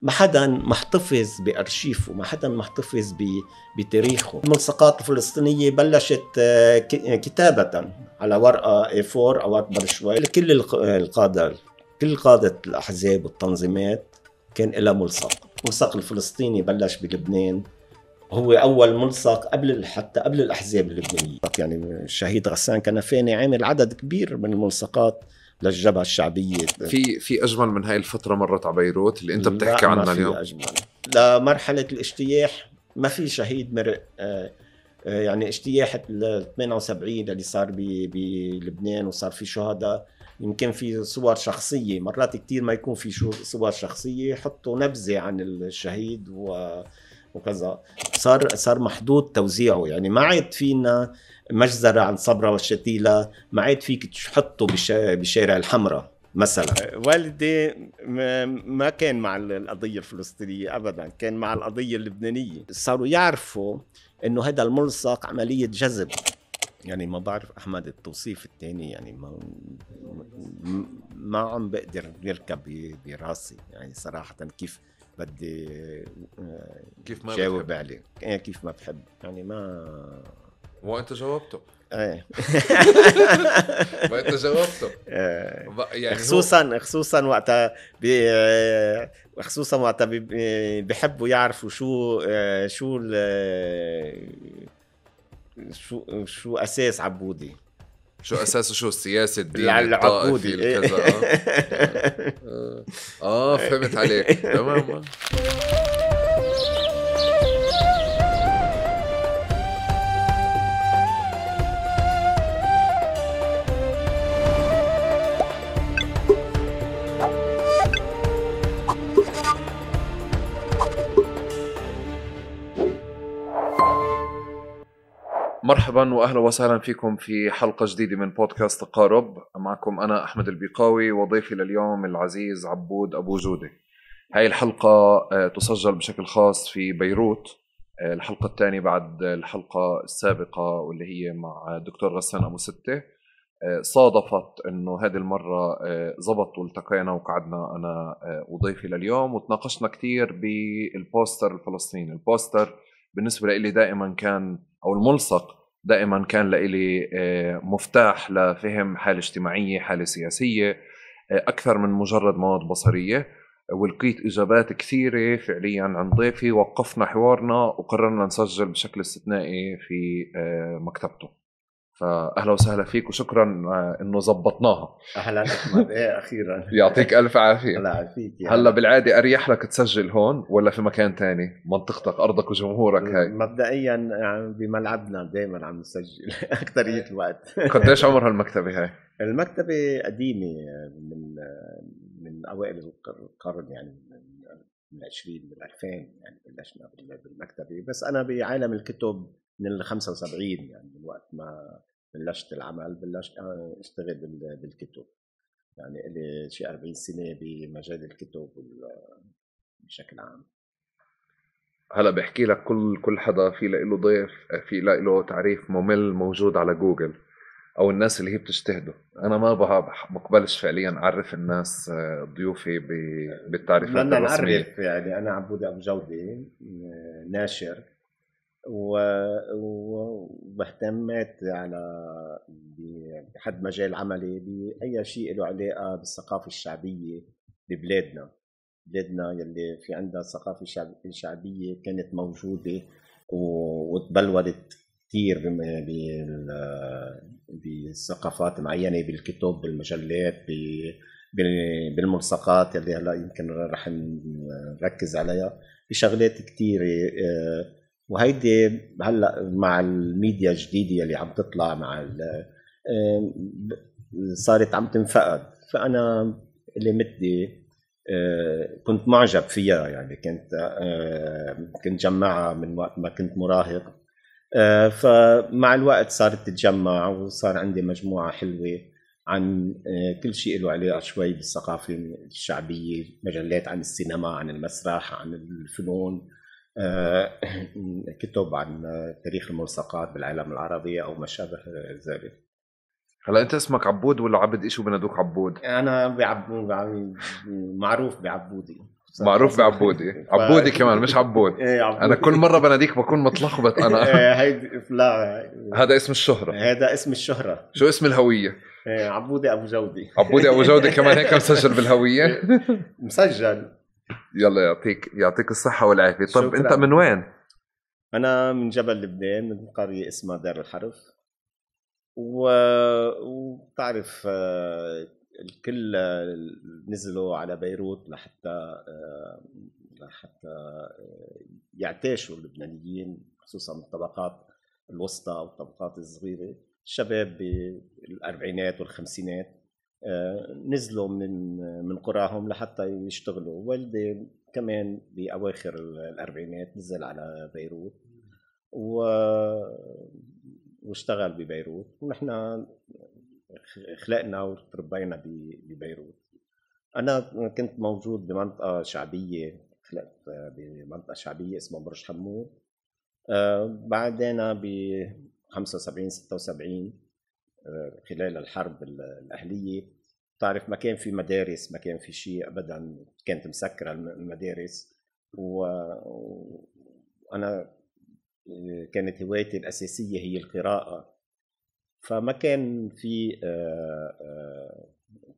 ما حدا محتفظ بأرشيفه، ما حدا محتفظ بتاريخه. الملصقات الفلسطينية بلشت كتابة على ورقة A4 أو أكبر شوي. كل القادة، كل قادة الأحزاب والتنظيمات كان لها ملصق. الملصق الفلسطيني بلش بلبنان، هو أول ملصق حتى قبل الأحزاب اللبنانية. يعني الشهيد غسان كنفاني عامل عدد كبير من الملصقات للجبهة الشعبية. في أجمل من هاي الفترة مرت على بيروت اللي أنت بتحكي عنها اليوم؟ أجمل. لمرحلة الاجتياح ما في شهيد مرق. يعني اجتياح 78 اللي صار بلبنان وصار في شهداء، يمكن في صور شخصية، مرات كتير ما يكون في صور شخصية، يحطوا نبذة عن الشهيد وكذا. صار محدود توزيعه. يعني ما عاد فينا مجزرة عن صبرا والشتيلة، ما عاد فيك تحطه بشارع الحمراء مثلا. والدي ما كان مع القضية الفلسطينية أبدا، كان مع القضية اللبنانية. صاروا يعرفوا إنه هذا الملصق عملية جذب. يعني ما بعرف أحمد التوصيف الثاني، يعني ما عم بقدر يركب براسي يعني صراحة كيف ما جاوب عليه. كيف ما بحب يعني ما وانت جاوبته. ايه وانت جاوبته. يعني خصوصا وقتها بيحبوا يعرفوا شو اساس عبودي، شو اساسه، شو السياسه، الدين، الطائفي، الكذا. فهمت عليك تمام. مرحبا واهلا وسهلا فيكم في حلقه جديده من بودكاست تقارب. معكم انا احمد البيقاوي وضيفي لليوم العزيز عبود ابو جوده. هاي الحلقه تسجل بشكل خاص في بيروت، الحلقه الثانيه بعد الحلقه السابقه واللي هي مع الدكتور غسان ابو سته. صادفت انه هذه المره زبط والتقينا وقعدنا انا وضيفي لليوم وتناقشنا كتير بالبوستر الفلسطيني. البوستر بالنسبه لي دائما كان، او الملصق دائما كان لي مفتاح لفهم حالة اجتماعية، حالة سياسية، أكثر من مجرد مواد بصرية. ولقيت إجابات كثيرة فعليا عن ضيفي، وقفنا حوارنا وقررنا نسجل بشكل استثنائي في مكتبته. فأهلا وسهلا فيك وشكرا إنه زبطناها. أهلا أحمد. أخيرا. يعطيك ألف عافية. الله يعافيك. هلا بالعادة أريح لك تسجل هون ولا في مكان تاني؟ منطقتك، أرضك وجمهورك. هاي مبدئيا بملعبنا دايما عم نسجل أكترية الوقت. قديش عمر هالمكتبة هاي؟ المكتبة قديمة من أوائل القرن، يعني من 20 من 2000 يعني بلشنا بالمكتبة. بس أنا بعالم الكتب من 75، يعني من وقت ما بلشت العمل بلشت اشتغل بالكتب. يعني لي شيء 40 سنة بمجال الكتب بشكل عام. هلا بحكي لك كل حدا في له ضيف، في له تعريف ممل موجود على جوجل، او الناس اللي هي بتجتهده. انا ما بقبلش فعليا اعرف الناس ضيوفي بالتعريفات الرسميه. نعرف يعني انا عبود ابو جوده، ناشر وبهتمت على بحد مجال عملي بأي شيء له علاقة بالثقافة الشعبية ببلادنا يلي في عندها ثقافة شعبية كانت موجودة وتبلورت كتير بثقافات معينة، بالكتب، بالمجلات، بالملصقات اللي هلا يمكن رح نركز عليها، بشغلات كتيرة. وهيدي هلا مع الميديا الجديدة اللي عم تطلع مع صارت عم تنفقد. فأنا اللي مدي كنت معجب فيها، يعني كنت جمعها من وقت ما كنت مراهق. فمع الوقت صارت تتجمع وصار عندي مجموعة حلوة عن كل شيء له علاقة شوي بالثقافة الشعبية، مجلات عن السينما، عن المسرح، عن الفنون، كتب عن تاريخ الملصقات بالعالم العربي أو ما شابه ذلك. هلا أنت اسمك عبود ولا عبد؟ إيش بندوك عبود؟ أنا بعبود، معروف بعبودي. معروف بعبودي. عبودي كمان مش عبود. انا كل مره بناديك بكون متلخبط انا. لا هذا اسم الشهره. هذا اسم الشهره. شو اسم الهويه؟ عبودي ابو جودي. عبودي ابو جودي كمان هيك مسجل بالهويه. مسجل. يلا يعطيك الصحه والعافيه. طب انت من وين؟ انا من جبل لبنان، من قريه اسمها دار الحرف. وبتعرف الكل نزلوا على بيروت لحتى يعتاشوا اللبنانيين، خصوصا الطبقات الوسطى والطبقات الصغيرة. الشباب بالأربعينات والخمسينات نزلوا من قراهم لحتى يشتغلوا. والدي كمان بأواخر الأربعينات نزل على بيروت واشتغل ببيروت، ونحن خلقنا وتربينا ببيروت. أنا كنت موجود بمنطقة شعبية، خلقت بمنطقة شعبية اسمها برج حمود. بعدين ب 75 76 خلال الحرب الأهلية، تعرف ما كان في مدارس، ما كان في شيء أبدا، كانت مسكرة المدارس. وأنا كانت هوايتي الأساسية هي القراءة، فما كان في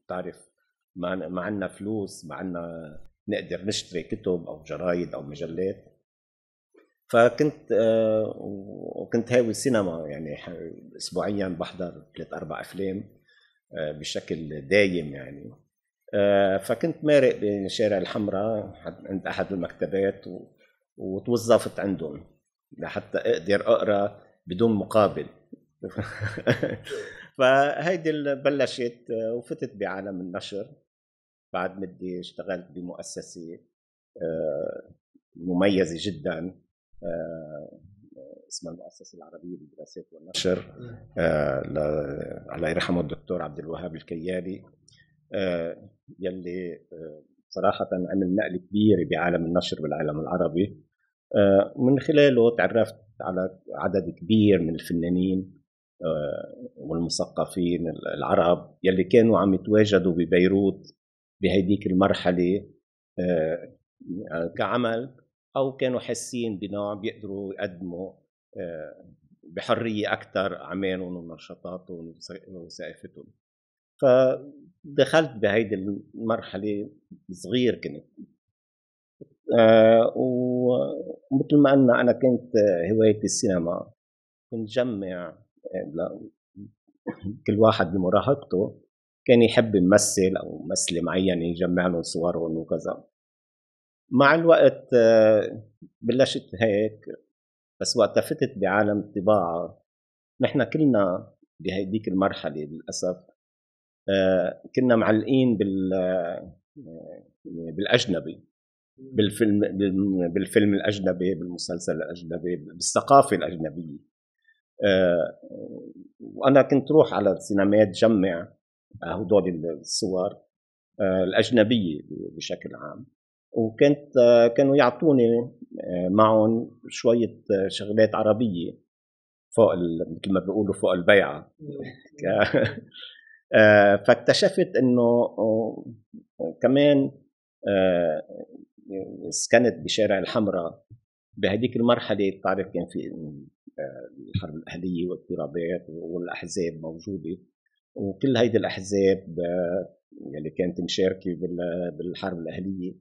تعرف ما عنا فلوس، ما عنا نقدر نشتري كتب أو جرايد أو مجلات. فكنت وكنت هاوي السينما، يعني أسبوعيا بحضر 3-4 أفلام بشكل دايم يعني. فكنت مارق بشارع الحمراء عند أحد المكتبات وتوظفت عندهم لحتى أقدر أقرأ بدون مقابل. فهيدي بلشت وفتت بعالم النشر. بعد مدة اشتغلت بمؤسسة مميزة جدا اسمها المؤسسة العربية للدراسات والنشر، الله يرحمه الدكتور عبد الوهاب الكيالي، يلي صراحة عمل نقلة كبيرة بعالم النشر بالعالم العربي. من خلاله تعرفت على عدد كبير من الفنانين والمثقفين العرب يلي كانوا عم يتواجدوا ببيروت بهيديك المرحلة كعمل، أو كانوا حاسين بنوع بيقدروا يقدموا بحرية أكثر أعمالهم ونشاطاتهم وثقافتهم. فدخلت بهيدي المرحلة صغير كنت، ومثل ما قلنا أنا كنت هوايتي السينما. كنت جمع كل واحد بمراهقته كان يحب يمثل أو ممثلة معينة، يجمع لهم صورهم وكذا. مع الوقت بلشت هيك، بس وقت فتت بعالم الطباعة نحن كلنا بهيديك المرحلة للأسف كنا معلقين بالأجنبي، بالفيلم الأجنبي، بالمسلسل الأجنبي، بالثقافة الأجنبية. وأنا كنت روح على السينمات جمع هدول الصور الأجنبية بشكل عام، كانوا يعطوني معهم شوية شغلات عربية فوق مثل ما بيقولوا فوق البيعة. فاكتشفت إنه كمان سكنت بشارع الحمراء بهديك المرحلة. تعرف كان في الحرب الأهلية واضطرابات والأحزاب موجودة، وكل هيدي الأحزاب اللي كانت مشاركة بالحرب الأهلية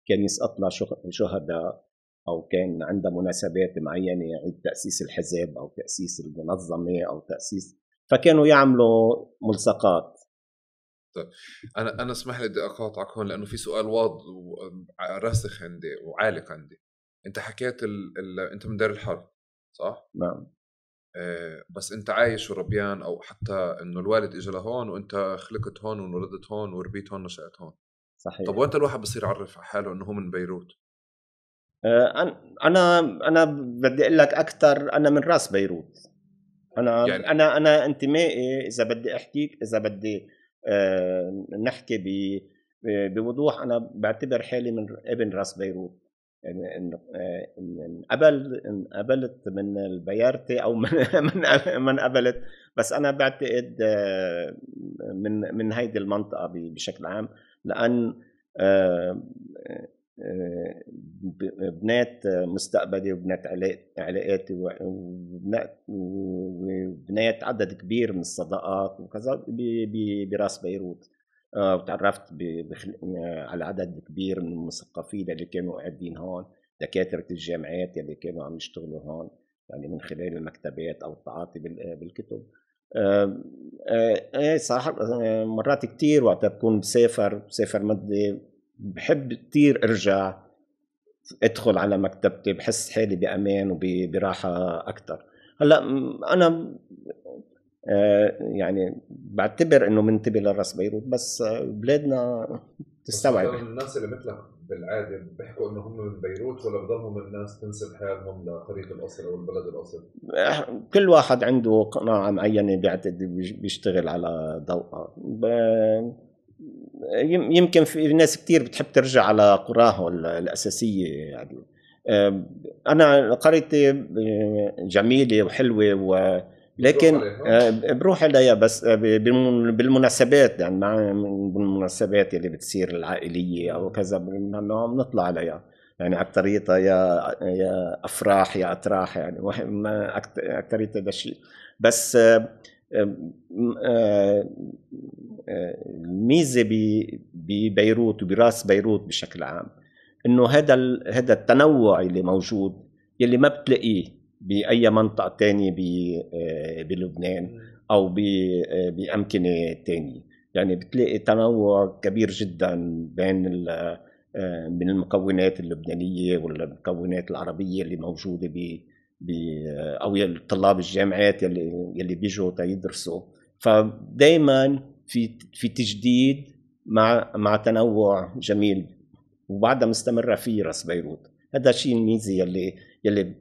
كان يسقط لها شهداء، أو كان عندها مناسبات معينة، عند تأسيس الحزب أو تأسيس المنظمة أو تأسيس، فكانوا يعملوا ملصقات. طيب أنا اسمح لي بدي أقاطعك هون لأنه في سؤال واضح راسخ عندي وعالق عندي. أنت حكيت أنت من دار الحرب صح؟ نعم. بس أنت عايش وربيان، أو حتى إنه الوالد إجا لهون وأنت خلقت هون ونولدت هون وربيت هون نشأت هون. صحيح. طب وأنت الواحد بصير يعرف حاله إنه هو من بيروت؟ أنا بدي أقول لك أكثر، أنا من راس بيروت. يعني أنا انتمائي، إذا بدي أحكيك، إذا بدي نحكي بوضوح، أنا بعتبر حالي من ابن راس بيروت. يعني قبلت من البيارتي أو من قبلت، بس أنا بعتقد من هيدي المنطقة بشكل عام، لأن بنات مستقبلي وبنات علاقاتي وبنات عدد كبير من الصداقات وكذا براس بيروت. وتعرفت على عدد كبير من المثقفين اللي كانوا قاعدين هون، دكاترة الجامعات اللي كانوا عم يشتغلوا هون، يعني من خلال المكتبات أو التعاطي بالكتب. صراحة مرات كتير وقت بكون بسافر مدة بحب كتير أرجع أدخل على مكتبتي، بحس حالي بأمان وبراحة أكتر. هلأ أنا يعني بعتبر إنه منتبه لراس بيروت، بس بلادنا تستوعب. الناس اللي مثلك بالعادة بيحكوا إنه هم من بيروت، ولا بضلهم الناس تنسب حالهم لقرية الأصل أو البلد الأصل؟ كل واحد عنده قناعة معينة بيعتقد بيشتغل على ضوءها. يمكن في ناس كتير بتحب ترجع على قراها الأساسية. يعني أنا قريتي جميلة وحلوة لكن بروح عليها بس بالمناسبات، يعني بالمناسبات اللي بتصير العائلية أو كذا بنطلع عليها، يعني أكتريتها يا أفراح يا أتراح، يعني ما أكتريتها ده الشيء. بس الميزة ببيروت وبراس بيروت بشكل عام إنه هذا التنوع اللي موجود يلي ما بتلاقيه بأي منطقة تانية بلبنان أو بأمكنة تانية. يعني بتلاقي تنوع كبير جدا من المكونات اللبنانية والمكونات العربية اللي موجودة أو طلاب الجامعات يلي بيجوا يدرسوا. فدايما في تجديد مع تنوع جميل، وبعدها مستمرة في راس بيروت. هذا الشيء الميزة يلي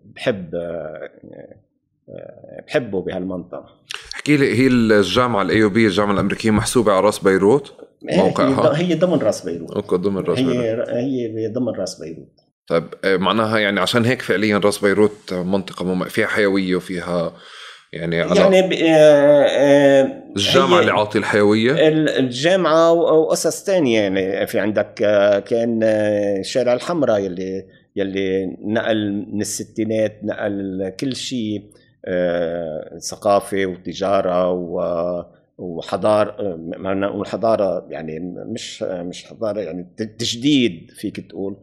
بحبه بهالمنطقة. احكي لي، هي الجامعة الأيوبية الجامعة الأمريكية محسوبة على راس بيروت موقعها؟ هي ضمن راس بيروت. أوكي، ضمن راس بيروت. هي ضمن راس بيروت. طيب معناها يعني عشان هيك فعليا راس بيروت منطقة فيها حيوية وفيها يعني الجامعة اللي عاطي الحيوية، الجامعة وقصص تانية. يعني في عندك كان شارع الحمراء يلي نقل من الستينات، نقل كل شيء، ثقافة وتجارة وحضارة. والحضارة يعني مش حضارة، يعني تجديد فيك تقول،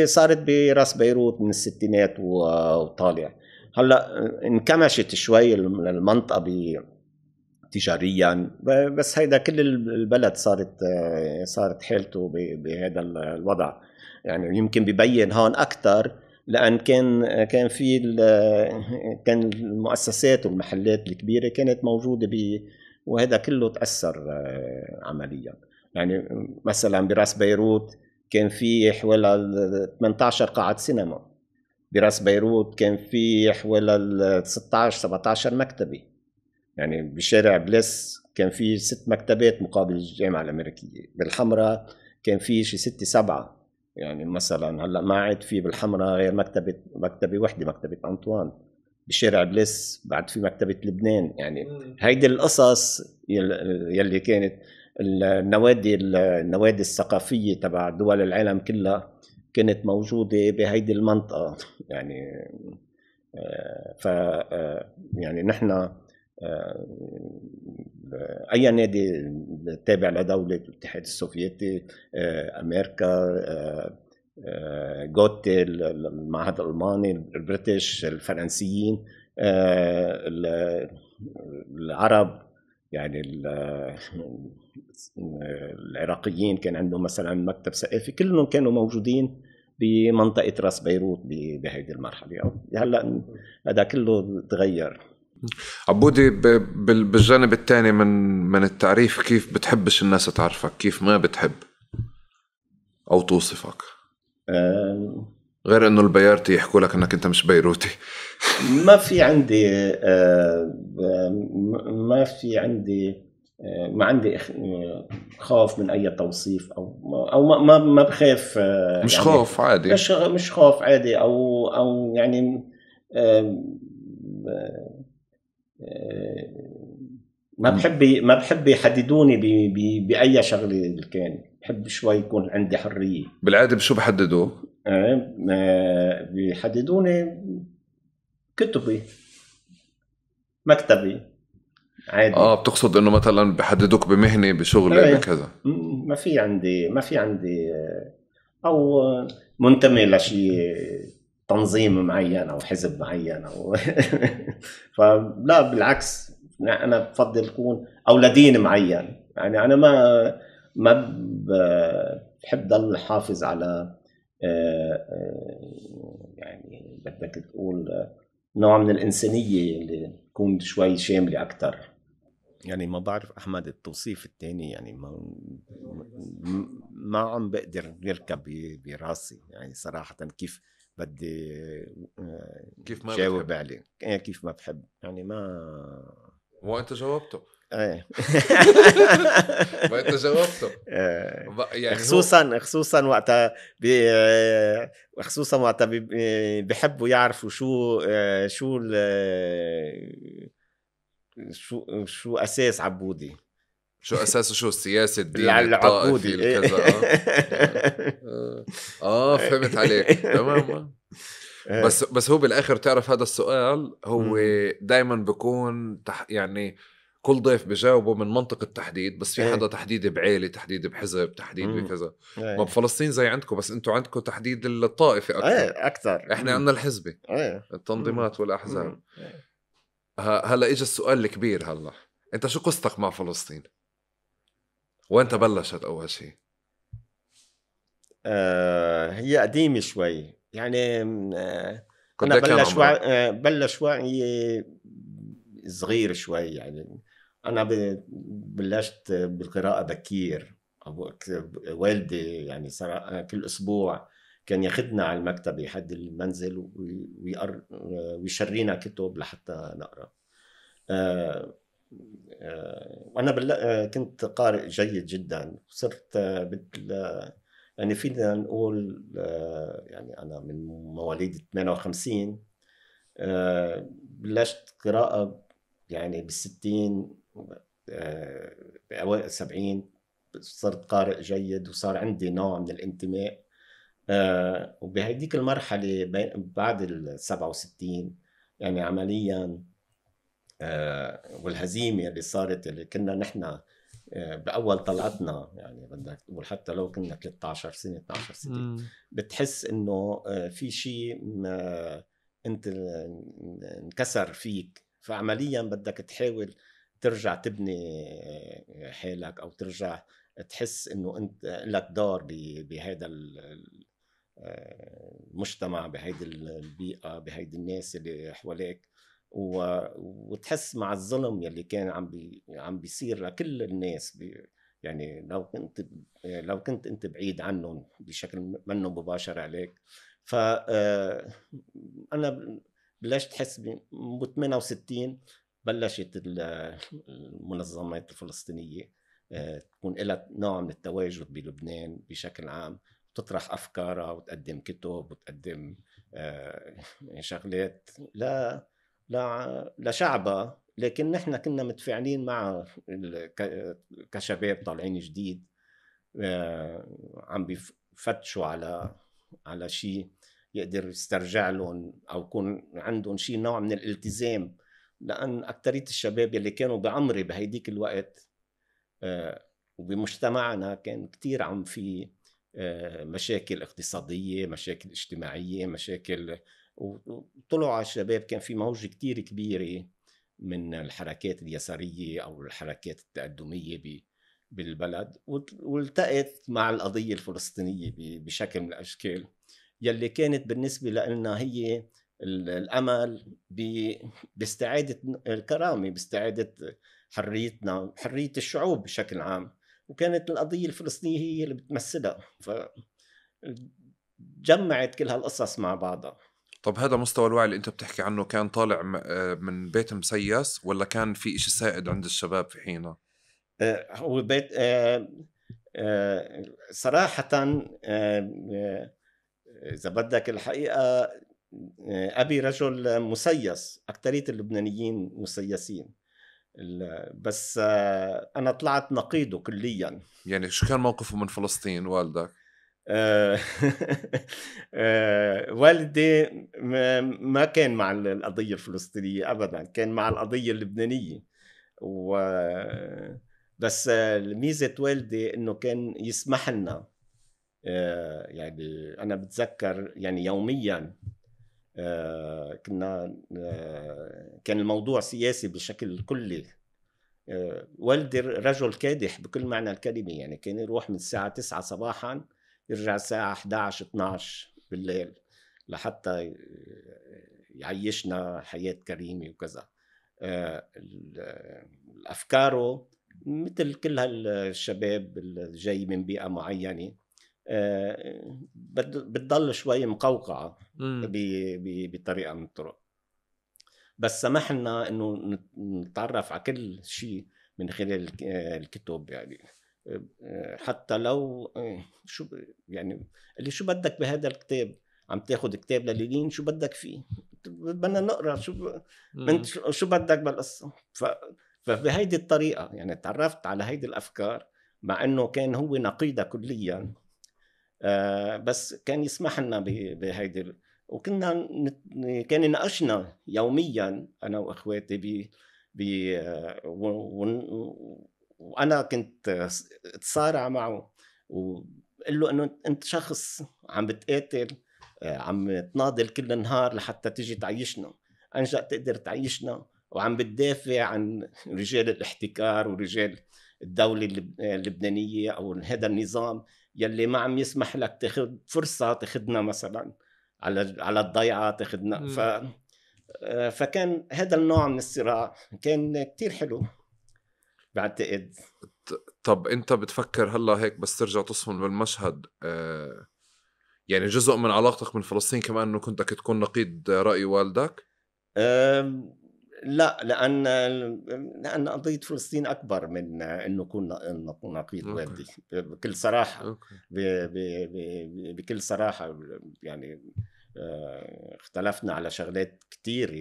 صارت براس بيروت من الستينات وطالع. هلا انكمشت شوي المنطقة تجاريا، بس هيدا كل البلد صارت حالته بهذا الوضع. يعني يمكن بيبين هون أكتر لأن كان في كان المؤسسات والمحلات الكبيرة كانت موجودة وهذا كله تأثر عمليا. يعني مثلا براس بيروت كان في حوالي 18 قاعة سينما. براس بيروت كان في حوالي 16-17 مكتبة. يعني بشارع بليس كان في 6 مكتبات مقابل الجامعة الأمريكية. بالحمراء كان في شي 6-7. يعني مثلا هلا ما عاد في بالحمراء غير مكتبة واحدة، مكتبة أنطوان. بشارع بليس بعد في مكتبة لبنان. يعني هيدي القصص يلي كانت النوادي الثقافية تبع دول العالم كلها كانت موجودة بهيدي المنطقة. يعني يعني نحن أي نادي تابع لدولة الاتحاد السوفيتي، أمريكا، جوتي، المعهد الألماني، البريتش، الفرنسيين، العرب، يعني العراقيين كان عندهم مثلا مكتب ثقافي، كلهم كانوا موجودين بمنطقة راس بيروت بهذه المرحلة. هلا هذا كله تغير. عبودي، بالجانب الثاني من التعريف، كيف بتحبش الناس تعرفك؟ كيف ما بتحب أو توصفك؟ غير إنه البيارتي يحكوا لك إنك أنت مش بيروتي. ما في عندي خوف من أي توصيف أو ما بخاف. مش يعني خوف عادي، مش خوف عادي أو يعني ما بحب يحددوني بأي شغلة كان. بحب شوي يكون عندي حرية. بالعادة بشو بحددوا؟ بيحددوني كتبي، مكتبي عادي. بتقصد انه مثلا بحددوك بمهنة بشغلة بكذا؟ ما في عندي او منتمي لشيء تنظيم معين او حزب معين او فلا بالعكس، انا بفضل يكون او لدين معين. يعني انا ما بحب ضل حافظ على يعني بدك تقول نوع من الإنسانية اللي تكون شوي شاملة أكتر. يعني ما بعرف أحمد التوصيف التاني، يعني ما عم بقدر يركب براسي يعني صراحة كيف بدي كيف ما جاوب عليه. كيف ما بحب يعني ما هو أنت جاوبته. ايه ما أنت جاوبته. يعني خصوصا وقتها خصوصا وقتها بيحبوا يعرفوا شو اساس عبودي، شو اساسه، شو السياسي، الديني، العبودي الطائفي، الكذا. فهمت عليك تمام. بس هو بالاخر تعرف هذا السؤال هو دائما بيكون يعني كل ضيف بجاوبه من منطق التحديد، بس في حدا تحديد بعيلة، تحديد بحزب، تحديد بكذا. ما بفلسطين زي عندكم، بس انتوا عندكم تحديد الطائفي اكثر. احنا عندنا الحزبي، التنظيمات والاحزاب. هلا اجى السؤال الكبير، هلا انت شو قصتك مع فلسطين؟ وانت بلشت اول شيء؟ هي قديمة شوي يعني. أنا بلش وعي صغير شوي يعني. أنا بلشت بالقراءة بكير. والدي يعني صار كل أسبوع كان ياخدنا على المكتبة حد المنزل ويشرينا كتب لحتى نقرأ. وأنا كنت قارئ جيد جدا. صرت يعني فينا نقول يعني أنا من مواليد 58. بلشت قراءة يعني بالستين، بأوائل 70 صرت قارئ جيد وصار عندي نوع من الانتماء. وبهديك المرحلة بعد 67 يعني عمليا والهزيمة اللي صارت اللي كنا نحن بأول طلعتنا، يعني بدك تقول حتى لو كنا 13 سنة 12 سنة بتحس إنه في شيء أنت انكسر فيك، فعمليا بدك تحاول ترجع تبني حالك أو ترجع تحس إنه أنت لك دور بهذا المجتمع، بهيدي البيئة، بهيدي الناس اللي حواليك. وتحس مع الظلم يلي كان عم بيصير لكل الناس يعني لو كنت انت بعيد عنهم بشكل منه مباشر عليك. ف انا بلشت احس ب 68 بلشت المنظمات الفلسطينيه تكون لها نوع من التواجد بلبنان بشكل عام، تطرح افكارها وتقدم كتب وتقدم شغلات لشعبها. لكن نحن كنا متفاعلين مع كشباب طالعين جديد عم بيفتشوا على شيء يقدر يسترجع لهم او يكون عندهم شيء نوع من الالتزام. لان اكثريه الشباب اللي كانوا بعمري بهيديك الوقت وبمجتمعنا كان كتير عم في مشاكل اقتصاديه، مشاكل اجتماعيه، مشاكل. وطلعوا على الشباب كان في موجة كتير كبيرة من الحركات اليسارية أو الحركات التقدمية بالبلد، والتقت مع القضية الفلسطينية بشكل من الأشكال يلي كانت بالنسبة لنا هي الأمل باستعادة الكرامة، باستعادة حريتنا، حرية الشعوب بشكل عام. وكانت القضية الفلسطينية هي اللي بتمثلها، فجمعت كل هالقصص مع بعضها. طب هذا مستوى الوعي اللي انت بتحكي عنه كان طالع من بيت مسيس ولا كان في إشي سائد عند الشباب في حينه؟ هو بيت صراحة إذا بدك الحقيقة أبي رجل مسيس، أكترية اللبنانيين مسيسين. بس أنا طلعت نقيضه كليا. يعني شو كان موقفه من فلسطين والدك؟ والدي ما كان مع القضية الفلسطينية أبدا، كان مع القضية اللبنانية. بس ميزة والدي إنه كان يسمح لنا، يعني أنا بتذكر يعني يوميا كنا كان الموضوع سياسي بشكل كلي. والدي رجل كادح بكل معنى الكلمة، يعني كان يروح من الساعة 9 صباحا يرجع الساعة 11-12 بالليل لحتى يعيشنا حياة كريمة وكذا. أفكاره مثل كل هالشباب الجاي من بيئة معينة بتضل شوي مقوقعة بطريقة من الطرق، بس سمح لنا انه نتعرف على كل شيء من خلال الكتب. يعني حتى لو شو يعني اللي شو بدك بهذا الكتاب، عم تاخد كتاب للينين شو بدك فيه، بدنا نقرا شو بدك بالقصة. فبهيدي الطريقة يعني تعرفت على هيدي الأفكار، مع انه كان هو نقيضة كليا، بس كان يسمح لنا بهيدي. وكنا كان يناقشنا يوميا انا واخواتي وانا كنت اتصارع معه وقال له انه انت شخص عم بتقاتل، عم تناضل كل النهار لحتى تيجي تعيشنا، انجا تقدر تعيشنا، وعم بتدافع عن رجال الاحتكار ورجال الدولة اللبنانية او هذا النظام يلي ما عم يسمح لك تاخذ فرصة تاخذنا مثلا على الضيعة تاخذنا. فكان هذا النوع من الصراع كان كتير حلو بعتقد. طب انت بتفكر هلا هيك بس ترجع تصفن بالمشهد، يعني جزء من علاقتك من فلسطين كمان انه كنت بدك تكون نقيض رأي والدك؟ لا، لأن قضية فلسطين أكبر من إنه نكون نقيض والدي بكل صراحة. بكل صراحة يعني اختلفنا على شغلات كتير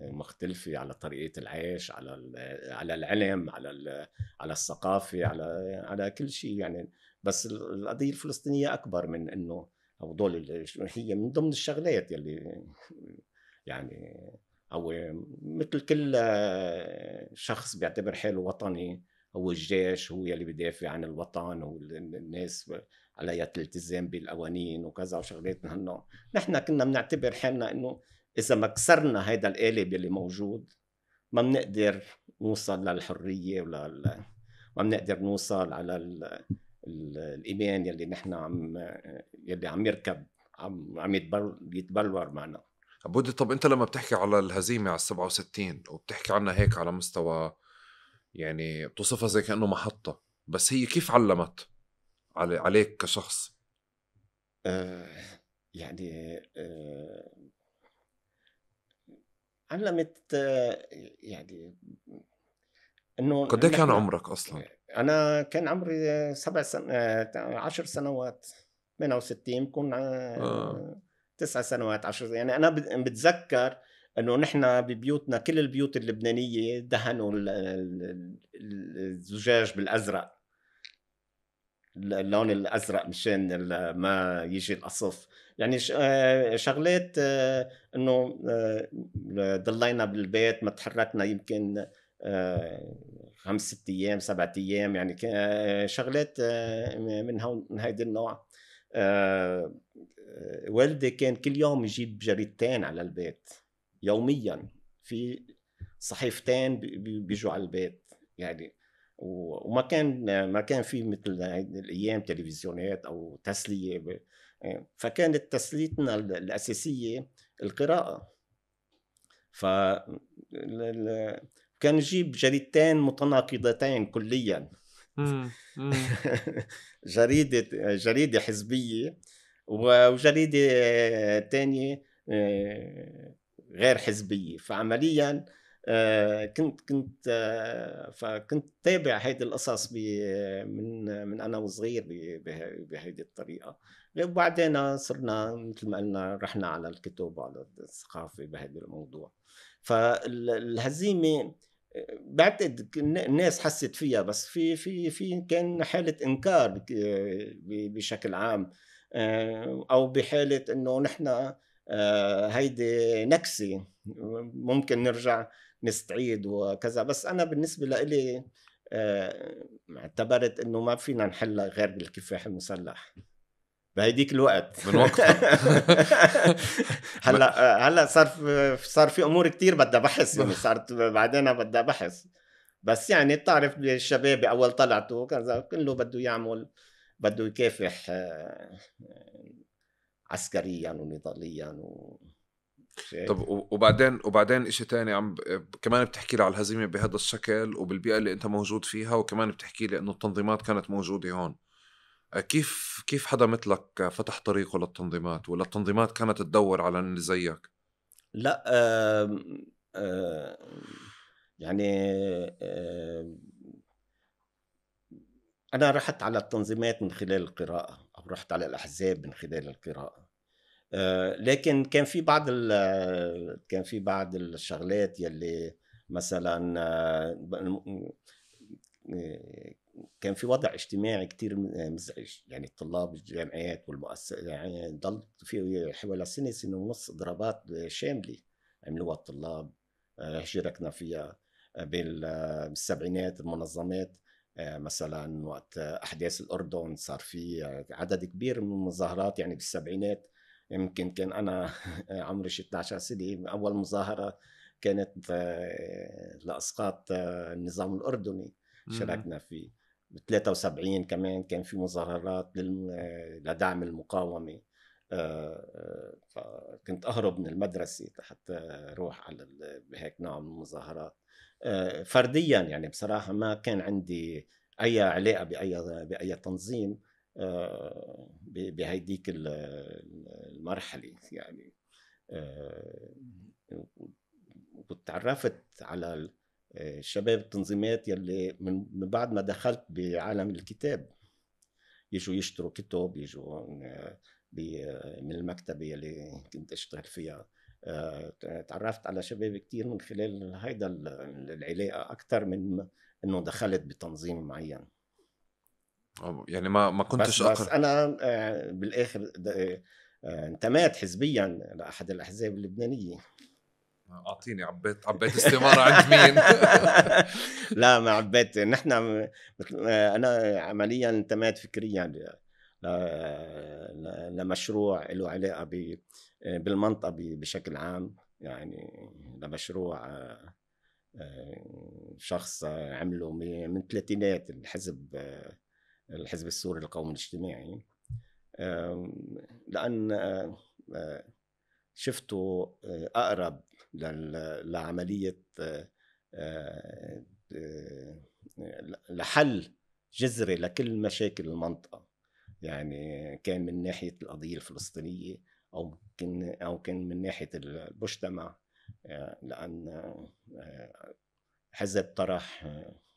مختلفة، على طريقة العيش، على العلم، على الثقافة، على كل شيء يعني. بس القضية الفلسطينية أكبر من إنه هدول، هي من ضمن الشغلات يلي يعني، أو مثل كل شخص بيعتبر حاله وطني، هو الجيش هو يلي بيدافع عن الوطن، والناس عليها الالتزام بالقوانين وكذا وشغلات من هالنوع. نحن كنا بنعتبر حالنا انه اذا ما كسرنا هيدا القالب يلي موجود ما بنقدر نوصل للحرية ما بنقدر نوصل على الإيمان يلي نحن يلي عم يركب، عم يتبلور معنا. عبودي، طب انت لما بتحكي على الهزيمة على 67 وبتحكي عنها هيك على مستوى، يعني بتوصفها زي كأنه محطة، بس هي كيف علمت عليك كشخص؟ يعني علمت يعني انه قد ايه كان عمرك اصلا؟ انا كان عمري 10 سنوات، 68 بكون 9 سنوات 10. يعني انا بتذكر انه نحن ببيوتنا كل البيوت اللبنانيه دهنوا الزجاج بالازرق، اللون الازرق مشان ما يجي القصف. يعني شغلات انه ضلينا بالبيت ما تحركنا يمكن 5-6 أيام 7 أيام، يعني شغلات من هيدا النوع. والدي كان كل يوم يجيب جريدتين على البيت يوميا، في صحيفتين بيجوا على البيت يعني. وما كان في مثل الايام تلفزيونات او تسليه، فكانت تسليتنا الاساسيه القراءه. ف كان يجيب جريدتين متناقضتين كليا. جريدة حزبية وجريدة تانية غير حزبية. فعمليا فكنت تابع هيدي القصص من أنا وصغير بهيدي الطريقة. وبعدين صرنا مثل ما قلنا رحنا على الكتب وعلى الثقافة بهذا الموضوع. فالهزيمة بعتقد الناس حست فيها، بس في كان حالة إنكار بشكل عام، أو بحالة إنه نحن هيدي نكسة ممكن نرجع نستعيد وكذا. بس أنا بالنسبة لإلي اعتبرت إنه ما فينا نحلها غير بالكفاح المسلح بهيديك الوقت من وقتها. هلا صار في امور كتير بدها بحث، يعني صارت بعدين بدها بحث. بس يعني بتعرف الشباب اول طلعتوا كذا كله بده يكافح عسكريا ونضاليا طب وبعدين اشي تاني كمان بتحكي لي على الهزيمة بهذا الشكل وبالبيئة اللي انت موجود فيها، وكمان بتحكي لي انه التنظيمات كانت موجودة هون. كيف حدا مثلك فتح طريقه للتنظيمات، ولا التنظيمات كانت تدور على اللي زيك؟ لا يعني أنا رحت على التنظيمات من خلال القراءة، أو رحت على الأحزاب من خلال القراءة. لكن كان في بعض الشغلات يلي مثلا كان في وضع اجتماعي كتير مزعج. يعني الطلاب الجامعات والمؤسسات يعني ضل في حوالي سنة ونص إضرابات شاملة عملوها الطلاب، شاركنا فيها بالسبعينات. المنظمات مثلا وقت أحداث الأردن صار في عدد كبير من المظاهرات، يعني بالسبعينات. يمكن كان أنا عمري 16 سنة، أول مظاهرة كانت لإسقاط النظام الأردني شاركنا فيه. ب 73 كمان كان في مظاهرات لدعم المقاومة. فكنت أهرب من المدرسة حتى أروح على بهيك نوع من المظاهرات فرديا. يعني بصراحة ما كان عندي أي علاقة بأي تنظيم بهيديك المرحلة يعني. وتعرفت على شباب التنظيمات يلي من بعد ما دخلت بعالم الكتاب يجوا يشتروا كتب، يجوا من المكتبة يلي كنت اشتغل فيها. تعرفت على شباب كتير من خلال هيدا العلاقة أكتر من إنه دخلت بتنظيم معين. يعني ما كنتش بس أنا بالآخر انتميت حزبيا لأحد الأحزاب اللبنانية. أعطيني عبيت استمارة عند مين؟ لا ما عبيت. نحن أنا عمليا انتميت فكريا لمشروع له علاقة بالمنطقة بشكل عام. يعني لمشروع شخص عمله من الثلاثينات، الحزب السوري للقوم الاجتماعي. لأن شفته أقرب لعملية لحل جذري لكل مشاكل المنطقة. يعني كان من ناحية القضية الفلسطينية أو كان من ناحية المجتمع. لأن حزب طرح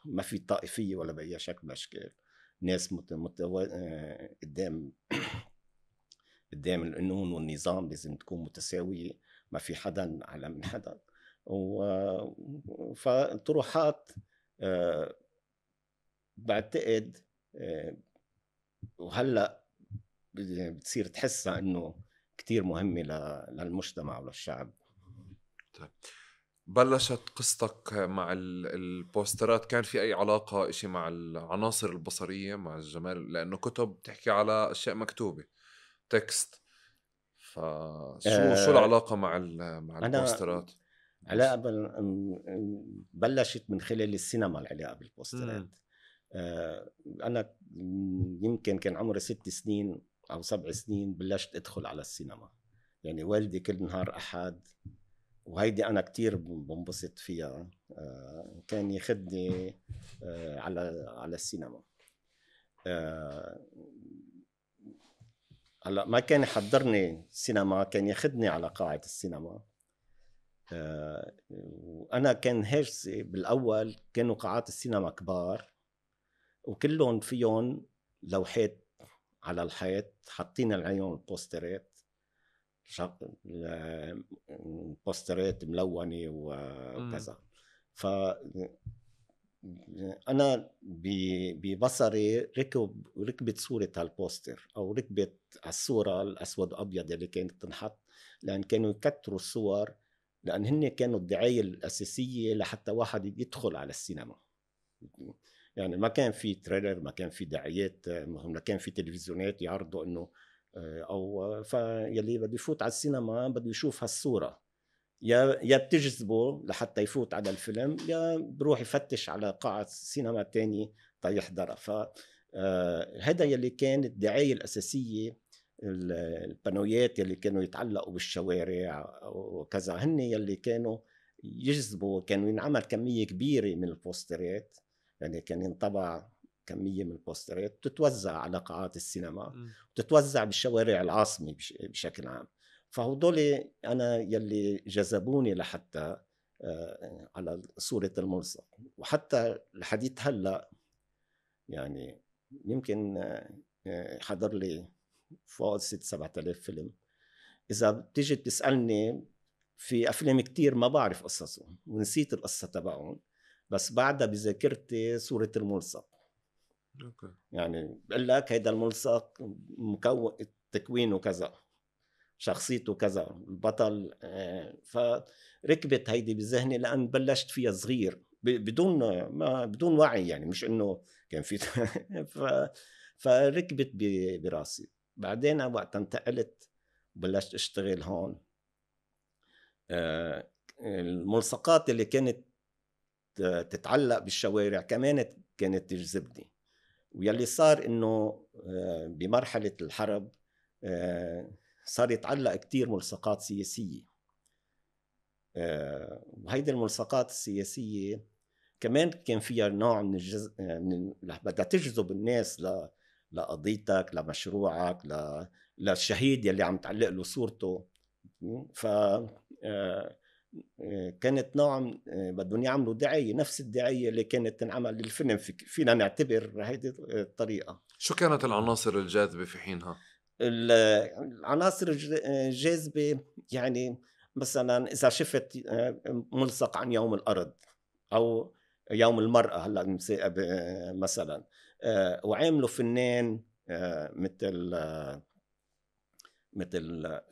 ما في طائفية ولا بأي شكل من الأشكال. ناس قدام القانون والنظام لازم تكون متساوية، ما في حدا أعلى من حدا. فالطروحات بعتقد وهلأ بتصير تحسها إنه كتير مهمة للمجتمع وللشعب. طيب. بلشت قصتك مع البوسترات، كان في أي علاقة إشي مع العناصر البصرية مع الجمال؟ لأنه كتب تحكي على أشياء مكتوبة تكست، شو العلاقة مع البوسترات؟ علاقة بلشت من خلال السينما. العلاقة بالبوسترات أنا يمكن كان عمري 6 سنين أو 7 سنين بلشت أدخل على السينما. يعني والدي كل نهار أحد، وهيدي أنا كتير بنبسط فيها، كان يخدني على السينما. هلا ما كان يحضرني سينما، كان ياخدني على قاعة السينما. وأنا كان هاجسي بالأول كانوا قاعات السينما كبار وكلهم فيهم لوحات على الحيط حاطين عليهم البوسترات، بوسترات ملونة وكذا. أنا ببصري ركبت صورة هالبوستر أو ركبت الصورة الأسود أبيض اللي كانت تنحط، لأن كانوا يكتروا الصور، لأن هن كانوا الدعاية الأساسية لحتى واحد يدخل على السينما. يعني ما كان في تريلر، ما كان في دعايات، ما كان في تلفزيونات يعرضوا إنه أو فيلي بده يفوت على السينما بده يشوف هالصورة، يا بتجذبه لحتى يفوت على الفيلم، يا بروح يفتش على قاعة سينما تاني يحضرها. فهذا يلي كان الدعاية الأساسية، البانويات يلي كانوا يتعلقوا بالشوارع وكذا، هن يلي كانوا يجذبوا. كانوا ينعمل كمية كبيرة من البوسترات، يعني كان ينطبع كمية من البوسترات تتوزع على قاعات السينما وتتوزع بالشوارع العاصمة بشكل عام. فهدول أنا يلي جذبوني لحتى على صورة الملصق. وحتى الحديث هلأ يعني يمكن حضر لي فوق 6-7 آلاف فيلم. إذا بتيجي تسألني في أفلام كتير ما بعرف قصصهم ونسيت القصة تبعهم، بس بعدها بذاكرتي صورة الملصق. يعني بقول لك هيدا الملصق مكون تكوينه كذا، شخصيته كذا، البطل. فركبت هيدي بذهني لأن بلشت فيها صغير بدون وعي، يعني مش إنه كان في فركبت براسي. بعدين وقت انتقلت بلشت اشتغل هون، الملصقات اللي كانت تتعلق بالشوارع كمان كانت تجذبني. ويلي صار إنه بمرحلة الحرب صار يتعلق كتير ملصقات سياسية، وهيدي الملصقات السياسية كمان كان فيها نوع من بدها تجذب الناس لقضيتك، لمشروعك، للشهيد يلي عم تعلق له صورته. ف كانت نوع بدهم يعملوا دعاية، نفس الدعاية اللي كانت تنعمل للفيلم. فينا نعتبر هيدي الطريقة. شو كانت العناصر الجاذبة في حينها؟ العناصر الجاذبة يعني مثلا إذا شفت ملصق عن يوم الأرض أو يوم المرأة هلا مثلا، وعاملوا فنان مثل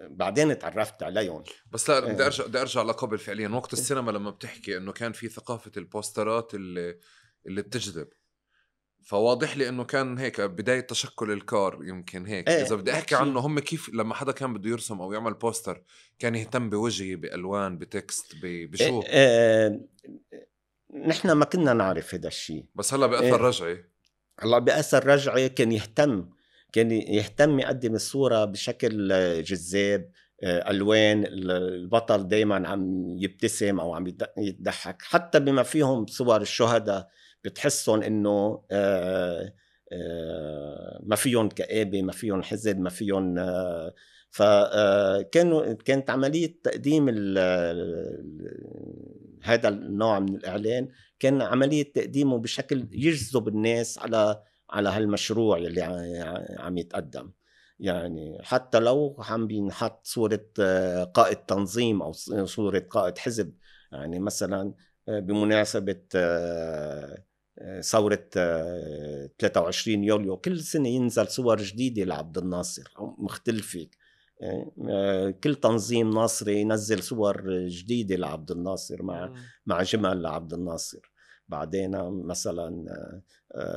بعدين تعرفت عليهم. بس لا بدي ارجع لقبل. فعليا وقت السينما لما بتحكي انه كان في ثقافة البوسترات اللي بتجذب، فواضح لي انه كان هيك بداية تشكل الكار. يمكن هيك اذا بدي احكي عنه، هم كيف لما حدا كان بده يرسم او يعمل بوستر كان يهتم بوجهي، بالوان، بتكست، بشو؟ نحن ما كنا نعرف هذا الشيء، بس هلا بأثر رجعي. هلا بأثر رجعي كان يهتم يقدم الصورة بشكل جذاب، ألوان، البطل دايما عم يبتسم أو عم يتضحك. حتى بما فيهم صور الشهداء بتحسهم إنه ما فيهم كآبة، ما فيهم حزن، ما فيهم كانت عملية تقديم هذا النوع من الإعلان، كان عملية تقديمه بشكل يجذب الناس على هالمشروع اللي عم يتقدم. يعني حتى لو عم بينحط صورة قائد تنظيم أو صورة قائد حزب، يعني مثلا بمناسبة ثورة 23 يوليو كل سنة ينزل صور جديدة لعبد الناصر مختلفة. كل تنظيم ناصري ينزل صور جديدة لعبد الناصر مع جمل لعبد الناصر. بعدين مثلا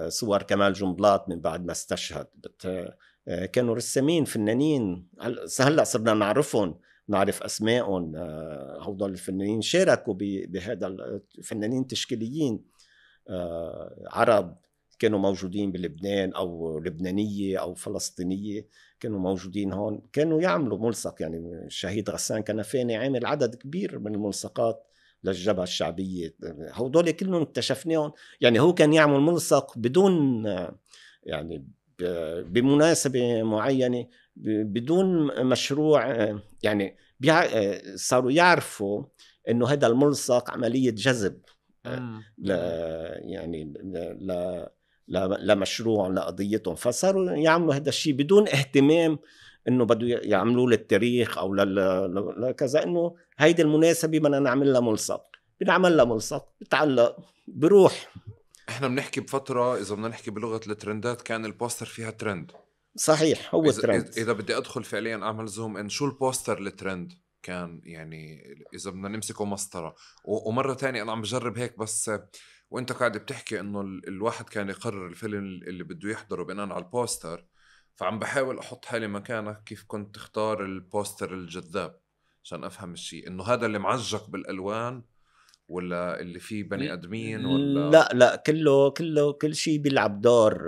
صور كمال جنبلاط من بعد ما استشهد، كانوا رسامين فنانين هلا صرنا نعرفهم، نعرف أسمائهم. هؤلاء الفنانين شاركوا بهذا، الفنانين تشكيليين عرب كانوا موجودين بلبنان أو لبنانية أو فلسطينية، كانوا موجودين هون، كانوا يعملوا ملصق. يعني الشهيد غسان كنفاني عامل عدد كبير من الملصقات للجبهة الشعبية. هؤلاء كلهم اكتشفناهم. يعني هو كان يعمل ملصق بدون يعني بمناسبة معينة بدون مشروع. يعني صاروا يعرفوا إنه هذا الملصق عملية جذب يعني لمشروع لقضيتهم، فصاروا يعملوا هذا الشيء بدون اهتمام إنه بدو يعملوا للتاريخ أو لكذا، إنه هيدي المناسبة بدنا نعمل لها ملصق. بنعمل لها ملصق بتعلق بروح. احنا بنحكي بفترة إذا بدنا نحكي بلغة الترندات كان البوستر فيها ترند. صحيح، هو ترند. إذا بدي أدخل فعليا أعمل زوم إن شو البوستر الترند كان، يعني إذا بدنا نمسكه مسطرة. ومرة تانية أنا عم بجرب هيك بس وإنت قاعد بتحكي إنه الواحد كان يقرر الفيلم اللي بده يحضره بناء على البوستر، فعم بحاول أحط حالي مكانك كيف كنت تختار البوستر الجذاب عشان أفهم الشيء، إنه هذا اللي معجق بالألوان ولا اللي فيه بني أدمين ولا لا كل شيء بيلعب دور.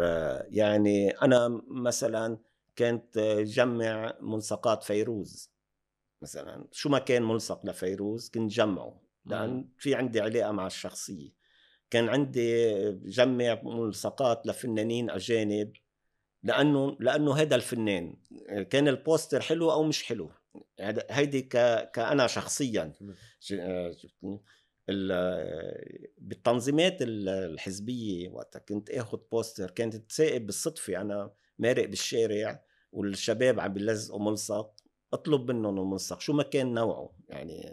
يعني أنا مثلا كنت جمع ملصقات فيروز مثلا، شو ما كان ملصق لفيروز كنت جمعه لأن في عندي علاقة مع الشخصية. كان عندي جمع ملصقات لفنانين أجانب لأنه هذا الفنان كان البوستر حلو أو مش حلو. هيدي كأنا شخصيا بالتنظيمات الحزبية وقتها كنت اخذ بوستر كانت تسائب بالصدفة، انا مارق بالشارع والشباب عم بيلزقوا ملصق اطلب منهم الملصق شو ما كان نوعه، يعني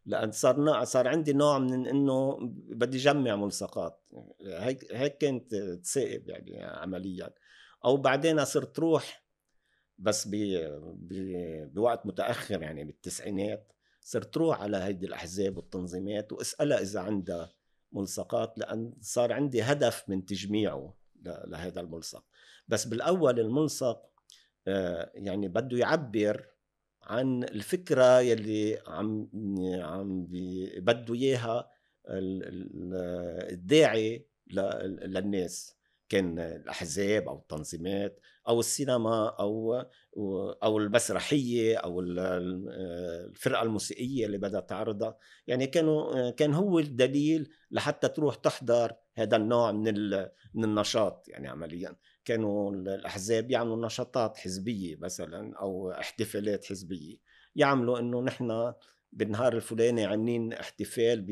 لأن صار عندي نوع من انه بدي جمع ملصقات. هيك كانت تسائب يعني عمليا. او بعدين صرت روح بس بوقت متأخر يعني بالتسعينات صرت روح على هيدي الأحزاب والتنظيمات واسألها إذا عندها ملصقات، لأن صار عندي هدف من تجميعه لهذا الملصق. بس بالأول الملصق يعني بده يعبر عن الفكرة يلي عم بده إياها الداعي للناس، كان الأحزاب أو التنظيمات أو السينما أو المسرحية أو الفرقة الموسيقية اللي بدها تعرضها. يعني كان هو الدليل لحتى تروح تحضر هذا النوع من النشاط. يعني عمليا كانوا الأحزاب يعملوا نشاطات حزبية مثلا أو احتفالات حزبية، يعملوا إنه نحن بالنهار الفلاني عاملين احتفال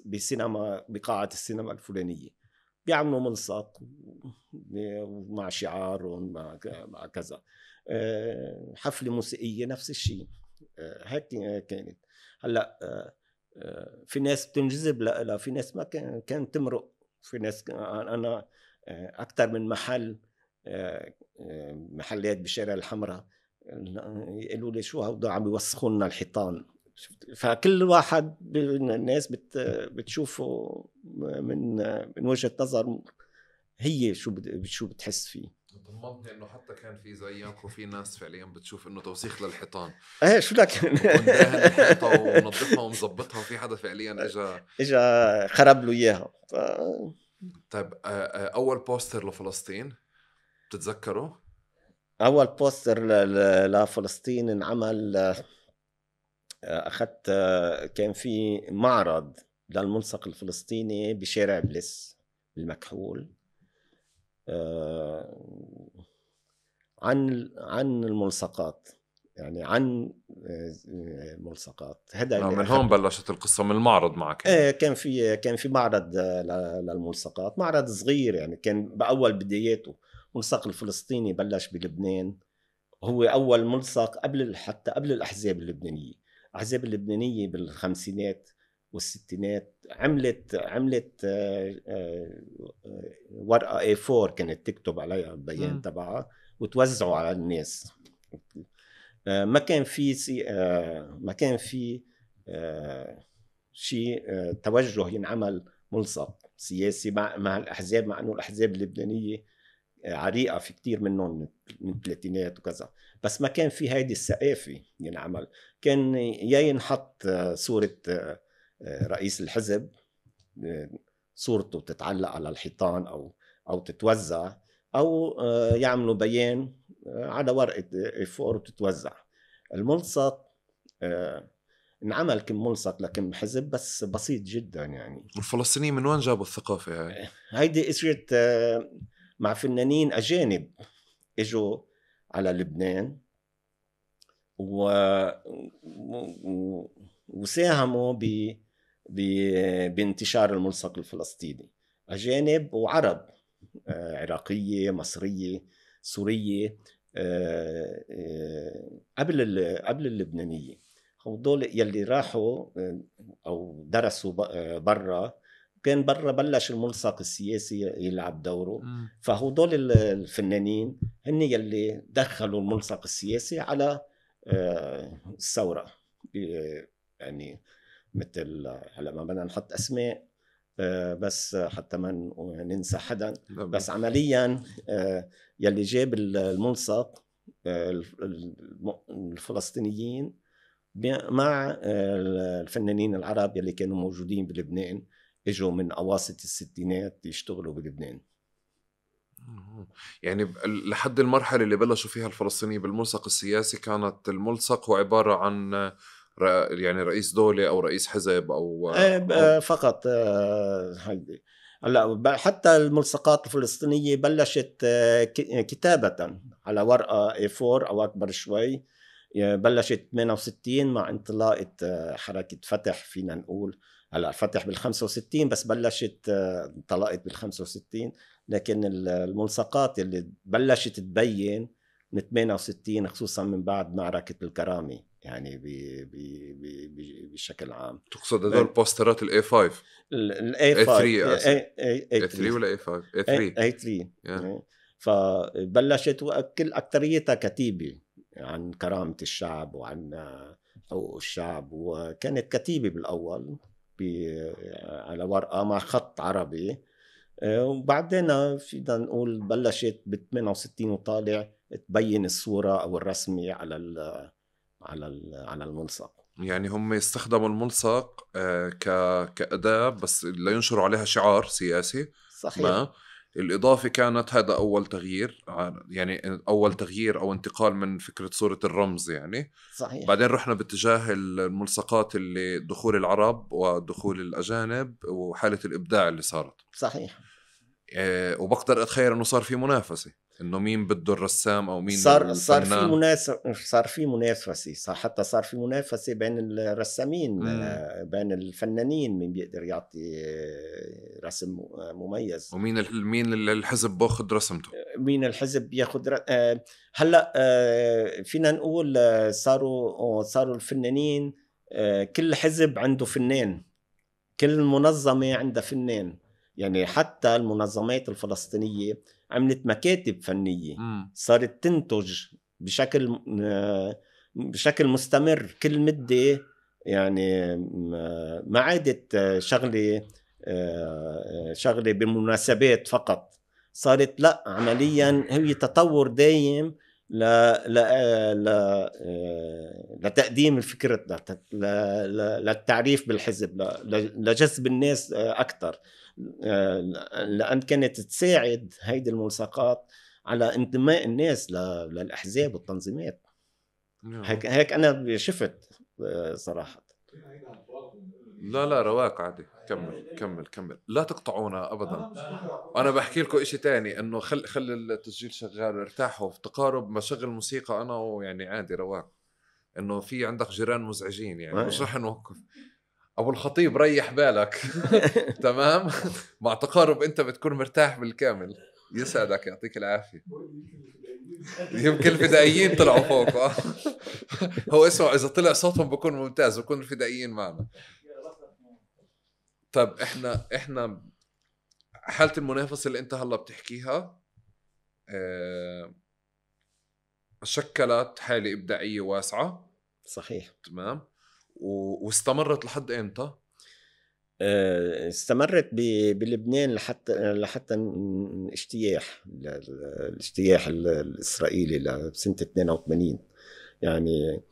بسينما بقاعة السينما الفلانية، بيعملوا ملصق مع شعار مع كذا. حفلة موسيقية نفس الشيء. هيك كانت. هلا في ناس بتنجذب لا في ناس ما كانت تمرق. في ناس أنا أكثر من محل محلات بشارع الحمراء يقولوا لي شو هودا عم يوسخوا لنا الحيطان. فكل واحد من الناس بتشوفه من وجهة نظر هي شو بتحس فيه. طمنتني انه حتى كان في زيك وفي ناس فعليا بتشوف انه توسيخ للحيطان. ايه شو لك بكون داهن الحيطه ومنظفها ومظبطها وفي حدا فعليا اجا خرب له اياها. طيب اول بوستر لفلسطين بتتذكره؟ اول بوستر لفلسطين انعمل اخذت كان في معرض للملصق الفلسطيني بشارع بلس المكحول عن الملصقات، يعني عن ملصقات. هذا من هون بلشت القصه، من المعرض معك يعني. كان في معرض للملصقات، معرض صغير يعني كان باول بداياته. الملصق الفلسطيني بلش بلبنان، هو اول ملصق حتى قبل الاحزاب اللبنانيه. الاحزاب اللبنانيه بالخمسينات والستينات عملت ورقه A4 كانت تكتب عليها البيان تبعها وتوزعوا على الناس. ما كان في شيء توجه ينعمل ملصق سياسي مع الاحزاب، مع انه الاحزاب اللبنانيه عريقه في كتير منهم من الثلاثينات وكذا، بس ما كان في هيدي الثقافه ينعمل. كان يا ينحط صوره رئيس الحزب، صورته تتعلق على الحيطان او تتوزع، او يعملوا بيان على ورقه A4 وتتوزع. الملصق انعمل كم ملصق لكم حزب بس بسيط جدا. يعني الفلسطينيين من وين جابوا الثقافه هاي؟ هيدي اجت مع فنانين اجانب اجوا على لبنان وساهموا بانتشار الملصق الفلسطيني. اجانب وعرب، عراقيه، مصريه، سوريه، قبل اللبنانيه. هدول يلي راحوا أو درسوا برا، كان برا بلش الملصق السياسي يلعب دوره. فهدول الفنانين هن يلي دخلوا الملصق السياسي على الثورة. يعني مثل هلا ما بدنا نحط أسماء بس حتى ما ننسى حدا، بس عمليا يلي جاب الملصق الفلسطينيين مع الفنانين العرب يلي كانوا موجودين بلبنان، اجوا من اواسط الستينات يشتغلوا بلبنان. يعني لحد المرحلة اللي بلشوا فيها الفلسطينيين بالملصق السياسي كانت الملصق هو عبارة عن يعني رئيس دولة أو رئيس حزب أو فقط هيدي. هلا حتى الملصقات الفلسطينية بلشت كتابة على ورقة A4 أو أكبر شوي. بلشت 68 مع انطلاقة حركة فتح، فينا نقول هلا فتح بال65 بس بلشت انطلقت بال65. لكن الملصقات اللي بلشت تبين من 68 خصوصا من بعد معركة الكرامة يعني بشكل عام. تقصد هذول بوسترات ال A5 ال A5 A3 ولا A5 A3 فبلشت وكل أكتريتها كتيبة عن كرامة الشعب وعن حقوق الشعب، وكانت كتيبة بالأول على ورقة مع خط عربي. وبعدين فينا نقول بلشت ب68 وطالع تبين الصورة أو الرسمي على الملصق. يعني هم يستخدموا الملصق كأداة بس لينشروا عليها شعار سياسي. صحيح. ما الإضافة كانت هذا أول تغيير، يعني أول تغيير أو انتقال من فكرة صورة الرمز يعني. صحيح. بعدين رحنا باتجاه الملصقات اللي دخول العرب ودخول الأجانب وحالة الإبداع اللي صارت. صحيح. وبقدر أتخيل أنه صار في منافسة، إنه مين بده الرسام أو مين الفنان. صار في منافسة حتى صار في منافسة بين الرسامين بين الفنانين، مين بيقدر يعطي رسم مميز ومين الحزب باخذ رسمته، مين الحزب بياخذ هلا فينا نقول صاروا الفنانين كل حزب عنده فنان، كل منظمة عندها فنان. يعني حتى المنظمات الفلسطينية عملت مكاتب فنية صارت تنتج بشكل مستمر كل مدة. يعني ما عادت شغلة بمناسبات فقط، صارت لا عمليا هي تطور دايم لتقديم الفكرة، للتعريف بالحزب، لجذب الناس أكثر، لأن كانت تساعد هيدي الملصقات على انتماء الناس للأحزاب والتنظيمات. هيك أنا شفت صراحة. لا رواق عادي، كمل لا تقطعونا أبدا. أنا بحكي لكم إشي تاني، إنه خلي التسجيل شغال ارتاحوا. في تقارب ما شغل موسيقى أنا ويعني عادي رواق، إنه في عندك جيران مزعجين يعني مش رح نوقف. أبو الخطيب ريح بالك. تمام. مع تقارب أنت بتكون مرتاح بالكامل. يسعدك يعطيك العافية. يمكن الفدائيين طلعوا فوق. هو اسمع إذا طلع صوتهم بكون ممتاز، بكون الفدائيين معنا. طيب إحنا حالة المنافسة اللي أنت هلا بتحكيها شكلت حالة إبداعية واسعة. صحيح. تمام. واستمرت لحد إمتى؟ استمرت بلبنان لحتى الاجتياح الإسرائيلي لسنة 82. يعني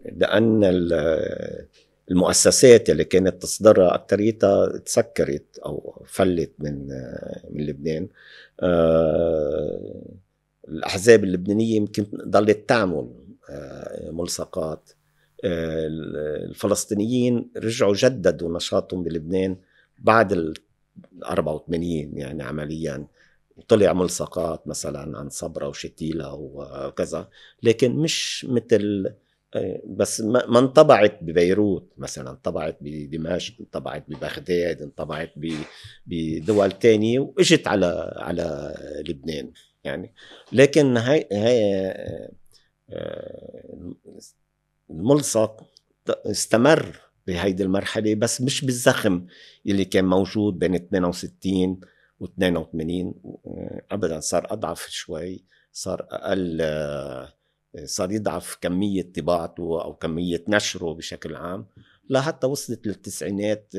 لأن المؤسسات اللي كانت تصدرها أكتريتها تسكرت أو فلت من لبنان. الأحزاب اللبنانية يمكن ضلت تعمل ملصقات. الفلسطينيين رجعوا جددوا نشاطهم بلبنان بعد 84 يعني عمليا طلع ملصقات مثلا عن صبرا وشتيلة وكذا، لكن مش مثل بس ما انطبعت ببيروت مثلا، انطبعت بدمشق، انطبعت ببغداد، انطبعت بدول تانية واجت على لبنان يعني. لكن هاي الملصق استمر بهيدي المرحلة، بس مش بالزخم اللي كان موجود بين 68 و 82. أبدا صار أضعف شوي، صار أقل، صار يضعف كمية طباعته أو كمية نشره بشكل عام، لحتى وصلت للتسعينات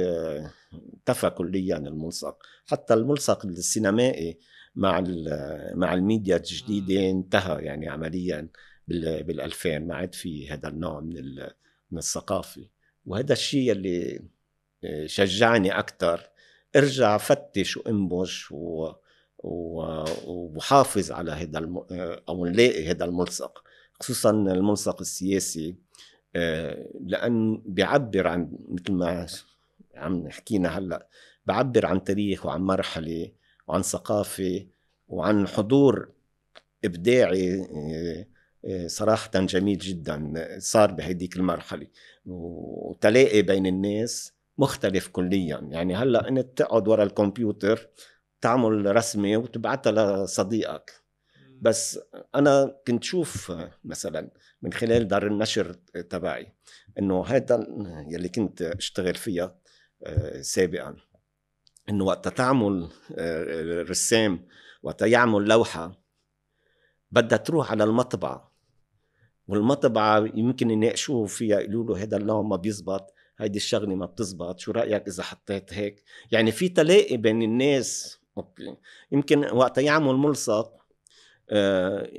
انتفى كليا الملصق. حتى الملصق السينمائي مع الميديا الجديدة انتهى يعني عمليا بال2000. ما عاد في هذا النوع من الثقافة. وهذا الشيء اللي شجعني أكتر ارجع فتش وانبش وحافظ على هذا أو نلاقي هذا الملصق، خصوصا الملصق السياسي، لأن بيعبر عن، مثل ما عم حكينا هلأ، بعبر عن تاريخ وعن مرحلة وعن ثقافة وعن حضور إبداعي صراحة جميل جدا صار بهديك المرحلة، وتلاقي بين الناس مختلف كليا. يعني هلأ أنت تقعد وراء الكمبيوتر تعمل رسمة وتبعتها لصديقك، بس أنا كنت شوف مثلا من خلال دار النشر تبعي إنه هذا يلي كنت اشتغل فيها سابقا، إنه وقت تعمل رسام وقت يعمل لوحة بدها تروح على المطبعة، والمطبعة يمكن يناقشوه فيها، يقولوا له هذا اللون ما بيزبط، هيدي الشغلة ما بتزبط، شو رأيك إذا حطيت هيك؟ يعني في تلاقي بين الناس. أوكي. يمكن وقت يعمل ملصق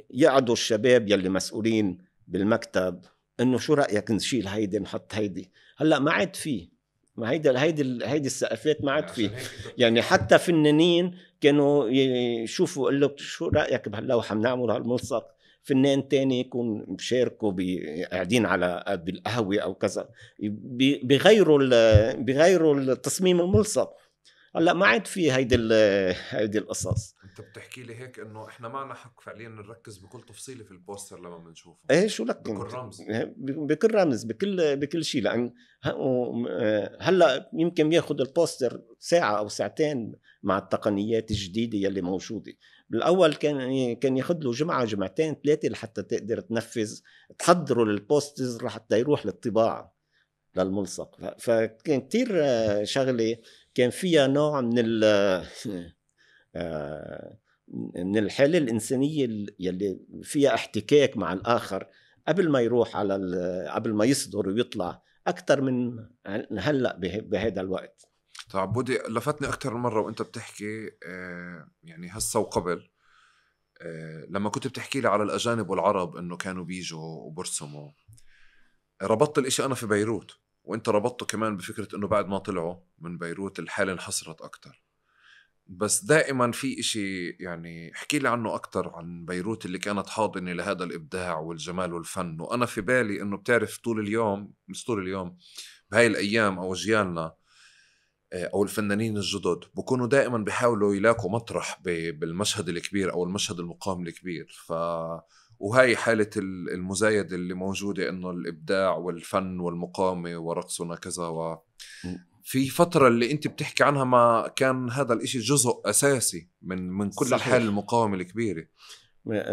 يقعدوا الشباب يلي مسؤولين بالمكتب إنه شو رأيك نشيل هيدي نحط هيدي. هلأ ما عاد فيه، ما هيدي السقفات ما عاد فيه. يعني حتى فنانين كانوا يشوفوا يقول لك شو رأيك بهاللوحة بنعمل هالملصق، فنان تاني يكون بشاركوا قاعدين على بالقهوة أو كذا بغيروا التصميم الملصق. هلا ما عاد في هيدي القصص. انت بتحكي لي هيك انه احنا معنا حق فعليا نركز بكل تفصيله في البوستر لما بنشوفه. ايه شو لك بكل رمز، بكل رمز، بكل شيء. لان هلا يمكن بياخد البوستر ساعه او ساعتين مع التقنيات الجديده يلي موجوده. بالاول كان ياخد له جمعه جمعتين ثلاثه لحتى تقدر تنفذ تحضره للبوسترز لحتى يروح للطباعه للملصق. فكان كتير شغله كان فيها نوع من الحالة الإنسانية يلي فيها احتكاك مع الآخر قبل ما يروح قبل ما يصدر ويطلع أكتر من هلأ بهذا الوقت. طيب عبودي، لفتني أكتر مرة وأنت بتحكي يعني هسه وقبل لما كنت بتحكي لي على الأجانب والعرب إنه كانوا بيجوا وبرسموا، ربطت الإشي أنا في بيروت، وأنت ربطته كمان بفكرة إنه بعد ما طلعوا من بيروت الحالة انحصرت أكتر. بس دائما في إشي يعني احكي لي عنه أكتر عن بيروت اللي كانت حاضنة لهذا الإبداع والجمال والفن. وأنا في بالي إنه بتعرف طول اليوم، مش طول اليوم، بهاي الأيام أو أجيالنا أو الفنانين الجدد بكونوا دائما بيحاولوا يلاقوا مطرح بالمشهد الكبير أو المشهد المقام الكبير. وهاي حالة المزايدة اللي موجودة إنه الإبداع والفن والمقامة ورقصنا كذا في فترة اللي انت بتحكي عنها ما كان هذا الاشي جزء اساسي من كل صحيح. الحالة المقاومة الكبيرة.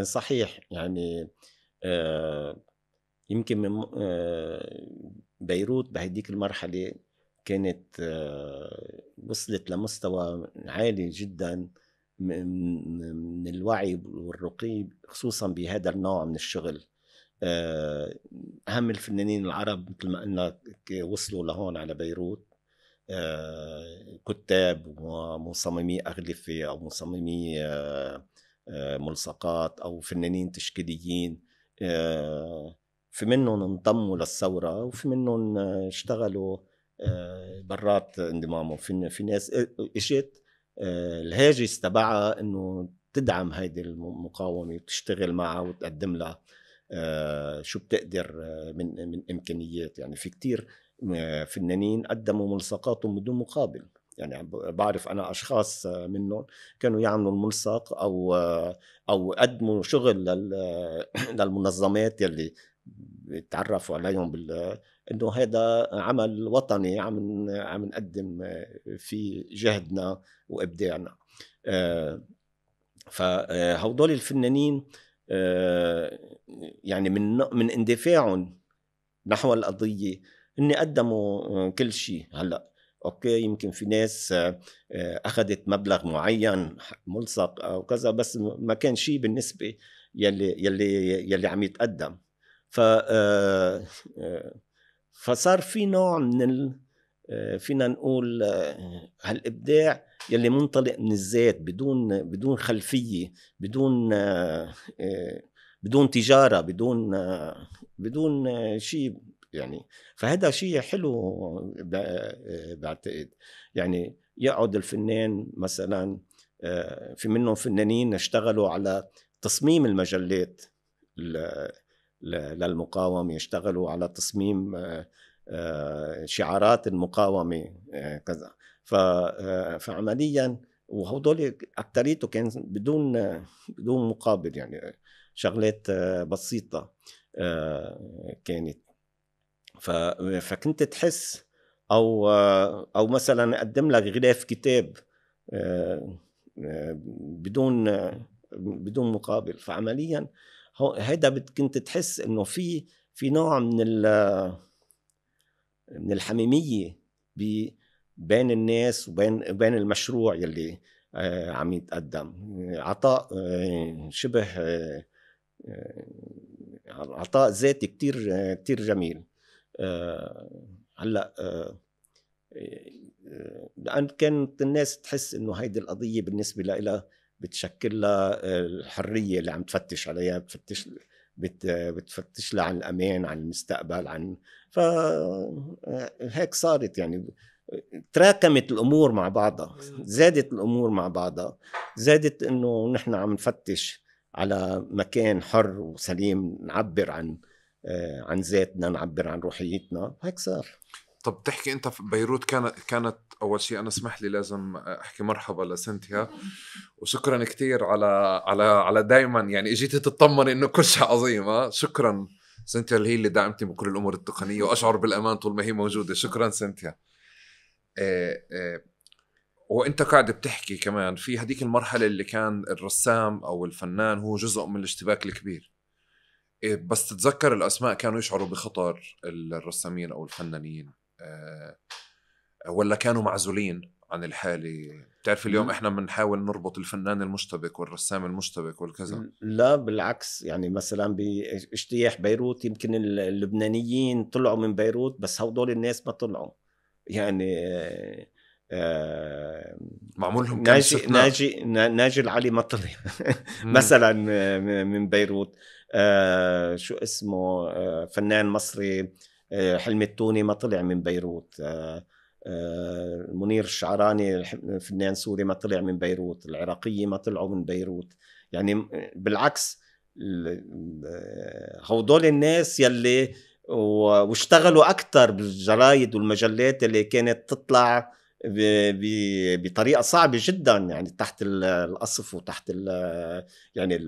صحيح. يعني يمكن من بيروت بهديك المرحلة كانت وصلت لمستوى عالي جدا من الوعي والرقي، خصوصا بهذا النوع من الشغل. أهم الفنانين العرب مثل ما قلنا وصلوا لهون على بيروت، كتاب ومصممي أغلفة أو مصممي ملصقات أو فنانين تشكيليين. في منهم انضموا للثورة وفي منهم اشتغلوا برات انضمامه. في ناس اجت الهاجس تبعها انه تدعم هيدي المقاومة وتشتغل معها وتقدم لها شو بتقدر من إمكانيات. يعني في كتير فنانين قدموا ملصقاتهم بدون مقابل. يعني بعرف أنا أشخاص منهم كانوا يعملوا الملصق أو قدموا شغل للمنظمات يلي تعرفوا عليهم إنه هذا عمل وطني عم نقدم في جهدنا وإبداعنا. فهؤلاء الفنانين يعني من اندفاعهم نحو القضية إني قدموا كل شيء. هلأ أوكي يمكن في ناس أخذت مبلغ معين ملصق أو كذا، بس ما كان شيء بالنسبة يلي عم يتقدم. فصار في نوع من فينا نقول هالإبداع يلي منطلق من الذات، بدون خلفية، بدون تجارة، بدون شيء يعني. فهذا شيء حلو بعتقد. يعني يقعد الفنان مثلا، في منهم فنانين اشتغلوا على تصميم المجلات للمقاومة، يشتغلوا على تصميم شعارات المقاومة كذا. فعمليا وهدول أكتريته كان بدون مقابل، يعني شغلات بسيطة كانت. فكنت تحس أو مثلا أقدم لك غلاف كتاب بدون مقابل. فعمليا هيدا كنت تحس إنه في نوع من الحميمية بين الناس وبين المشروع يلي عم يتقدم. عطاء شبه عطاء ذاتي كتير جميل. هلأ لأن كانت الناس تحس إنه هيدي القضية بالنسبة لها بتشكل لها الحرية اللي عم تفتش عليها، بتفتش لها عن الأمان، عن المستقبل، فهيك صارت يعني. تراكمت الأمور مع بعضها، زادت الأمور مع بعضها، زادت إنه نحن عم نفتش على مكان حر وسليم نعبر عن ذاتنا، نعبر عن روحيتنا. هيك صار. طب تحكي انت في بيروت كانت اول شيء، انا اسمح لي لازم احكي مرحبا لسنتيا، وشكرا كتير على دايما يعني اجيتي تطمني انه كل شيء عظيم. شكرا سنتيا اللي هي اللي دعمتني بكل الامور التقنيه، واشعر بالامان طول ما هي موجوده. شكرا سنتيا. وانت قاعد بتحكي كمان في هديك المرحله اللي كان الرسام او الفنان هو جزء من الاشتباك الكبير، بس تتذكر الاسماء كانوا يشعروا بخطر الرسامين او الفنانين، ولا كانوا معزولين عن الحالة؟ بتعرف اليوم احنا بنحاول نربط الفنان المشتبك والرسام المشتبك والكذا. لا بالعكس، يعني مثلا باجتياح بيروت يمكن اللبنانيين طلعوا من بيروت، بس هودول الناس ما طلعوا. يعني معمولهم كان ناجي العلي ما طلع مثلا من بيروت. شو اسمه فنان مصري حلمي التوني ما طلع من بيروت. منير الشعراني فنان سوري ما طلع من بيروت. العراقية ما طلعوا من بيروت. يعني بالعكس هودول الناس يلي واشتغلوا أكتر بالجرايد والمجلات اللي كانت تطلع بطريقة صعبة جدا، يعني تحت القصف وتحت يعني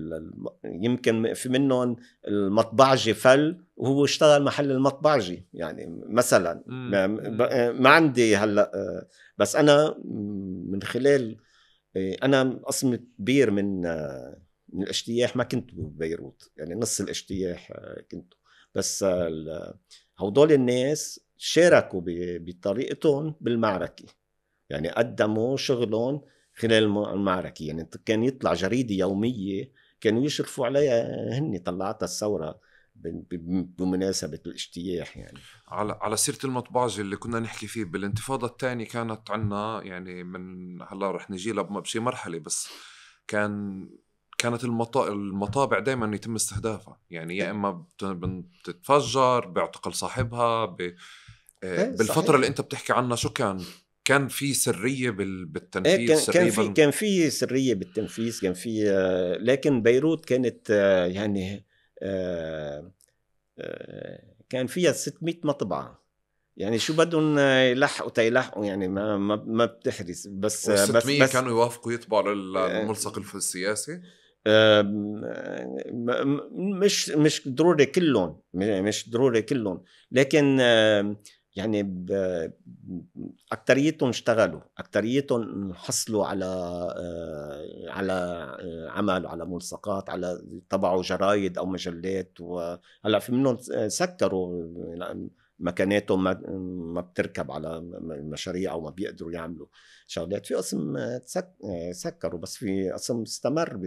يمكن في منهم المطبعجي فل وهو اشتغل محل المطبعجي يعني مثلا. ما عندي هلأ، بس أنا من خلال أنا قسم كبير من الاجتياح ما كنت ببيروت، يعني نص الاجتياح كنت. بس هودول الناس شاركوا بطريقتهم بالمعركة، يعني قدموا شغلهم خلال المعركة. يعني كان يطلع جريدة يومية كانوا يشرفوا عليها، هني طلعتها الثورة بمناسبة الاجتياح. يعني على سيرة المطبعجي اللي كنا نحكي فيه بالانتفاضة الثانية، كانت عنا يعني من هلا رح نجي لها بشي مرحلة، بس كانت المطابع دائما يتم استهدافها، يعني يا اما بتتفجر، بيعتقل صاحبها بالفترة اللي انت بتحكي عنها. شو كان في سرية بالتنفيذ؟ كان في سرية بالتنفيذ، كان في لكن بيروت كانت يعني كان فيها 600 مطبعة، يعني شو بدهم يلحقوا يعني ما بتحرس. بس 600 كانوا يوافقوا يطبعوا للملصق السياسي؟ مش ضروري كلهم، مش ضروري كلهم، لكن يعني أكتريتهم اشتغلوا، أكتريتهم حصلوا على عمل، على ملصقات، على طبعوا جرايد أو مجلات. وهلا في منهم سكروا مكاناتهم ما بتركب على المشاريع أو ما بيقدروا يعملوا شغلات. في قسم سكروا، بس في قسم استمر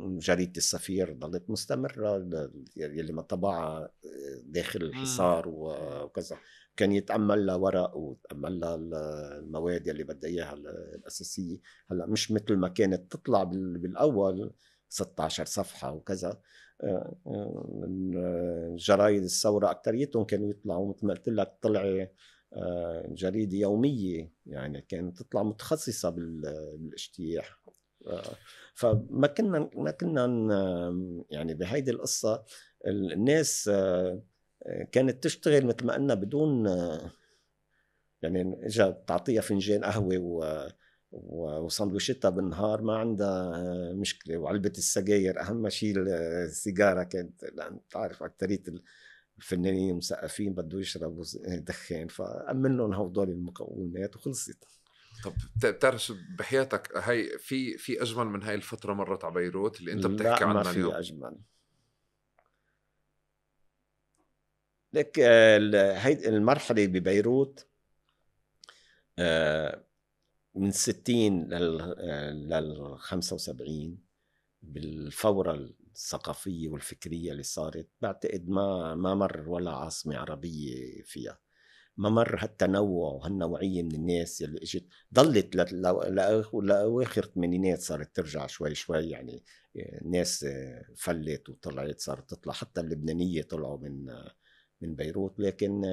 جريدة السفير ضلت مستمرة يلي ما طبعها داخل الحصار وكذا. كان يتأمل لها ورق ويتأمل لها المواد يلي بدها إياها الأساسية. هلأ مش مثل ما كانت تطلع بالأول 16 صفحة وكذا. جرايد الثورة أكتريتهم كانوا يطلعوا مثل ما قلت لك طلع جريدة يومية، يعني كانت تطلع متخصصة بالاجتياح. فما كنا يعني بهيدي القصة الناس كانت تشتغل مثل ما قلنا بدون يعني اجا تعطيها فنجان قهوة وسندويشتها بالنهار ما عندها مشكلة. وعلبة السجاير أهم شيء السيجارة كانت، لأن تعرف أكترية الفنانين المثقفين بده يشربوا دخان، فأمن لهم هدول المكونات وخلصت. طب بتعرف شو بحياتك هاي في اجمل من هاي الفتره مرت على بيروت اللي انت بتحكي عنها اليوم؟ لا ما في اجمل. لك هاي المرحله ببيروت من 60 لل 75 بالفوره الثقافيه والفكريه اللي صارت، بعتقد ما مر ولا عاصمه عربيه فيها ما مر هالتنوع وهالنوعية من الناس اللي اجت. ضلت لأواخر الثمانينات صارت ترجع شوي شوي، يعني ناس فلت وطلعت، صارت تطلع حتى اللبنانية طلعوا من بيروت. لكن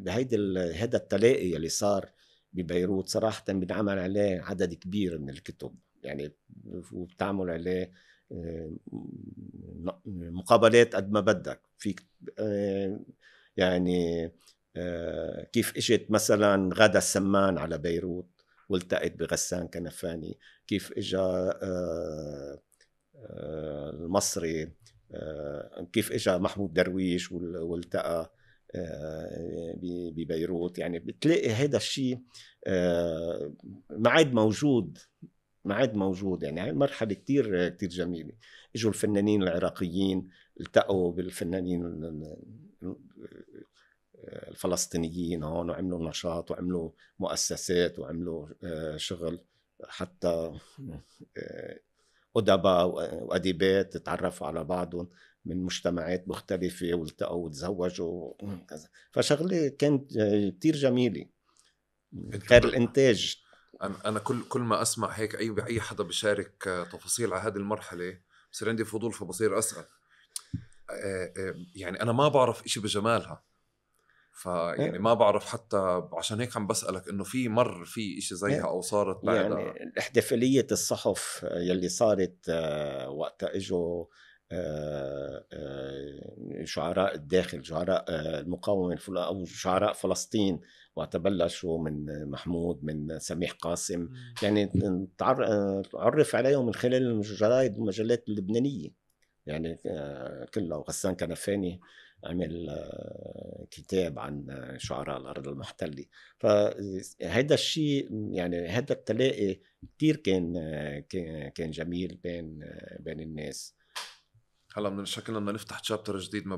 هذا التلاقي اللي صار ببيروت صراحة بنعمل عليه عدد كبير من الكتب، يعني وبتعمل عليه مقابلات قد ما بدك فيك. يعني كيف اجت مثلا غادة السمان على بيروت والتقت بغسان كنفاني، كيف اجا المصري، كيف اجا محمود درويش والتقى ببيروت. يعني بتلاقي هذا الشيء ما عاد موجود. يعني هاي مرحلة كتير جميلة. اجوا الفنانين العراقيين التقوا بالفنانين الفلسطينيين هون وعملوا نشاط وعملوا مؤسسات وعملوا شغل. حتى أدباء وأديبات تعرفوا على بعضهم من مجتمعات مختلفة والتقوا وتزوجوا كذا. فشغلة كانت كتير جميلة غير الإنتاج. أنا كل ما أسمع هيك أي حدا بيشارك تفاصيل على هذه المرحلة بصير عندي فضول، فبصير أسأل. يعني أنا ما بعرف إشي بجمالها، فيعني ما بعرف حتى عشان هيك عم بسألك إنه في إشي زيها أو صارت بعدها. يعني احتفالية الصحف يلي صارت وقتها اجوا شعراء الداخل، شعراء المقاومة أو شعراء فلسطين، وقت بلشوا من محمود من سميح قاسم. يعني تعرف عليهم من خلال الجرايد والمجلات اللبنانية، يعني كلها. وغسان كنفاني عمل كتاب عن شعراء الأرض المحتلة. فهذا الشيء يعني هذا التلاقي كتير كان جميل بين الناس. هلا من شكلنا بدنا نفتح شابتر جديد ما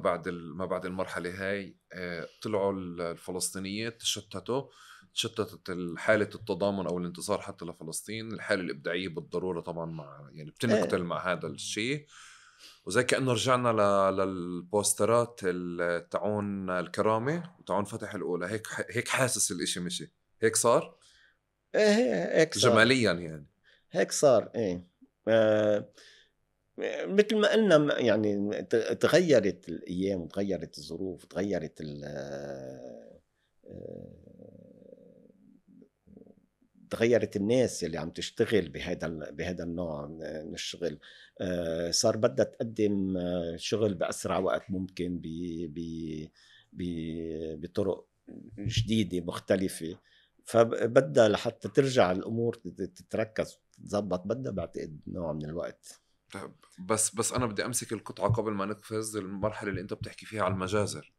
بعد المرحله هاي. طلعوا الفلسطينيات تشتتت حاله التضامن او الانتصار حتى لفلسطين. الحاله الابداعيه بالضروره طبعا يعني بتنقتل مع هذا الشيء. وزي كأنه رجعنا للبوسترات تاعون الكرامة وتاعون فتح الأولى. هيك حاسس الاشي مشي هيك صار. هيك صار جماليا، يعني هيك صار. ايه مثل ما قلنا، يعني تغيرت الأيام، تغيرت الظروف، تغيرت تغيرت الناس اللي عم تشتغل بهذا النوع من الشغل. صار بدها تقدم شغل بأسرع وقت ممكن بطرق جديدة مختلفة. فبدها لحتى ترجع الأمور تتركز تتزبط، بدها بعتقد نوع من الوقت. طيب بس انا بدي امسك القطعه قبل ما نقفز المرحله اللي انت بتحكي فيها على المجازر،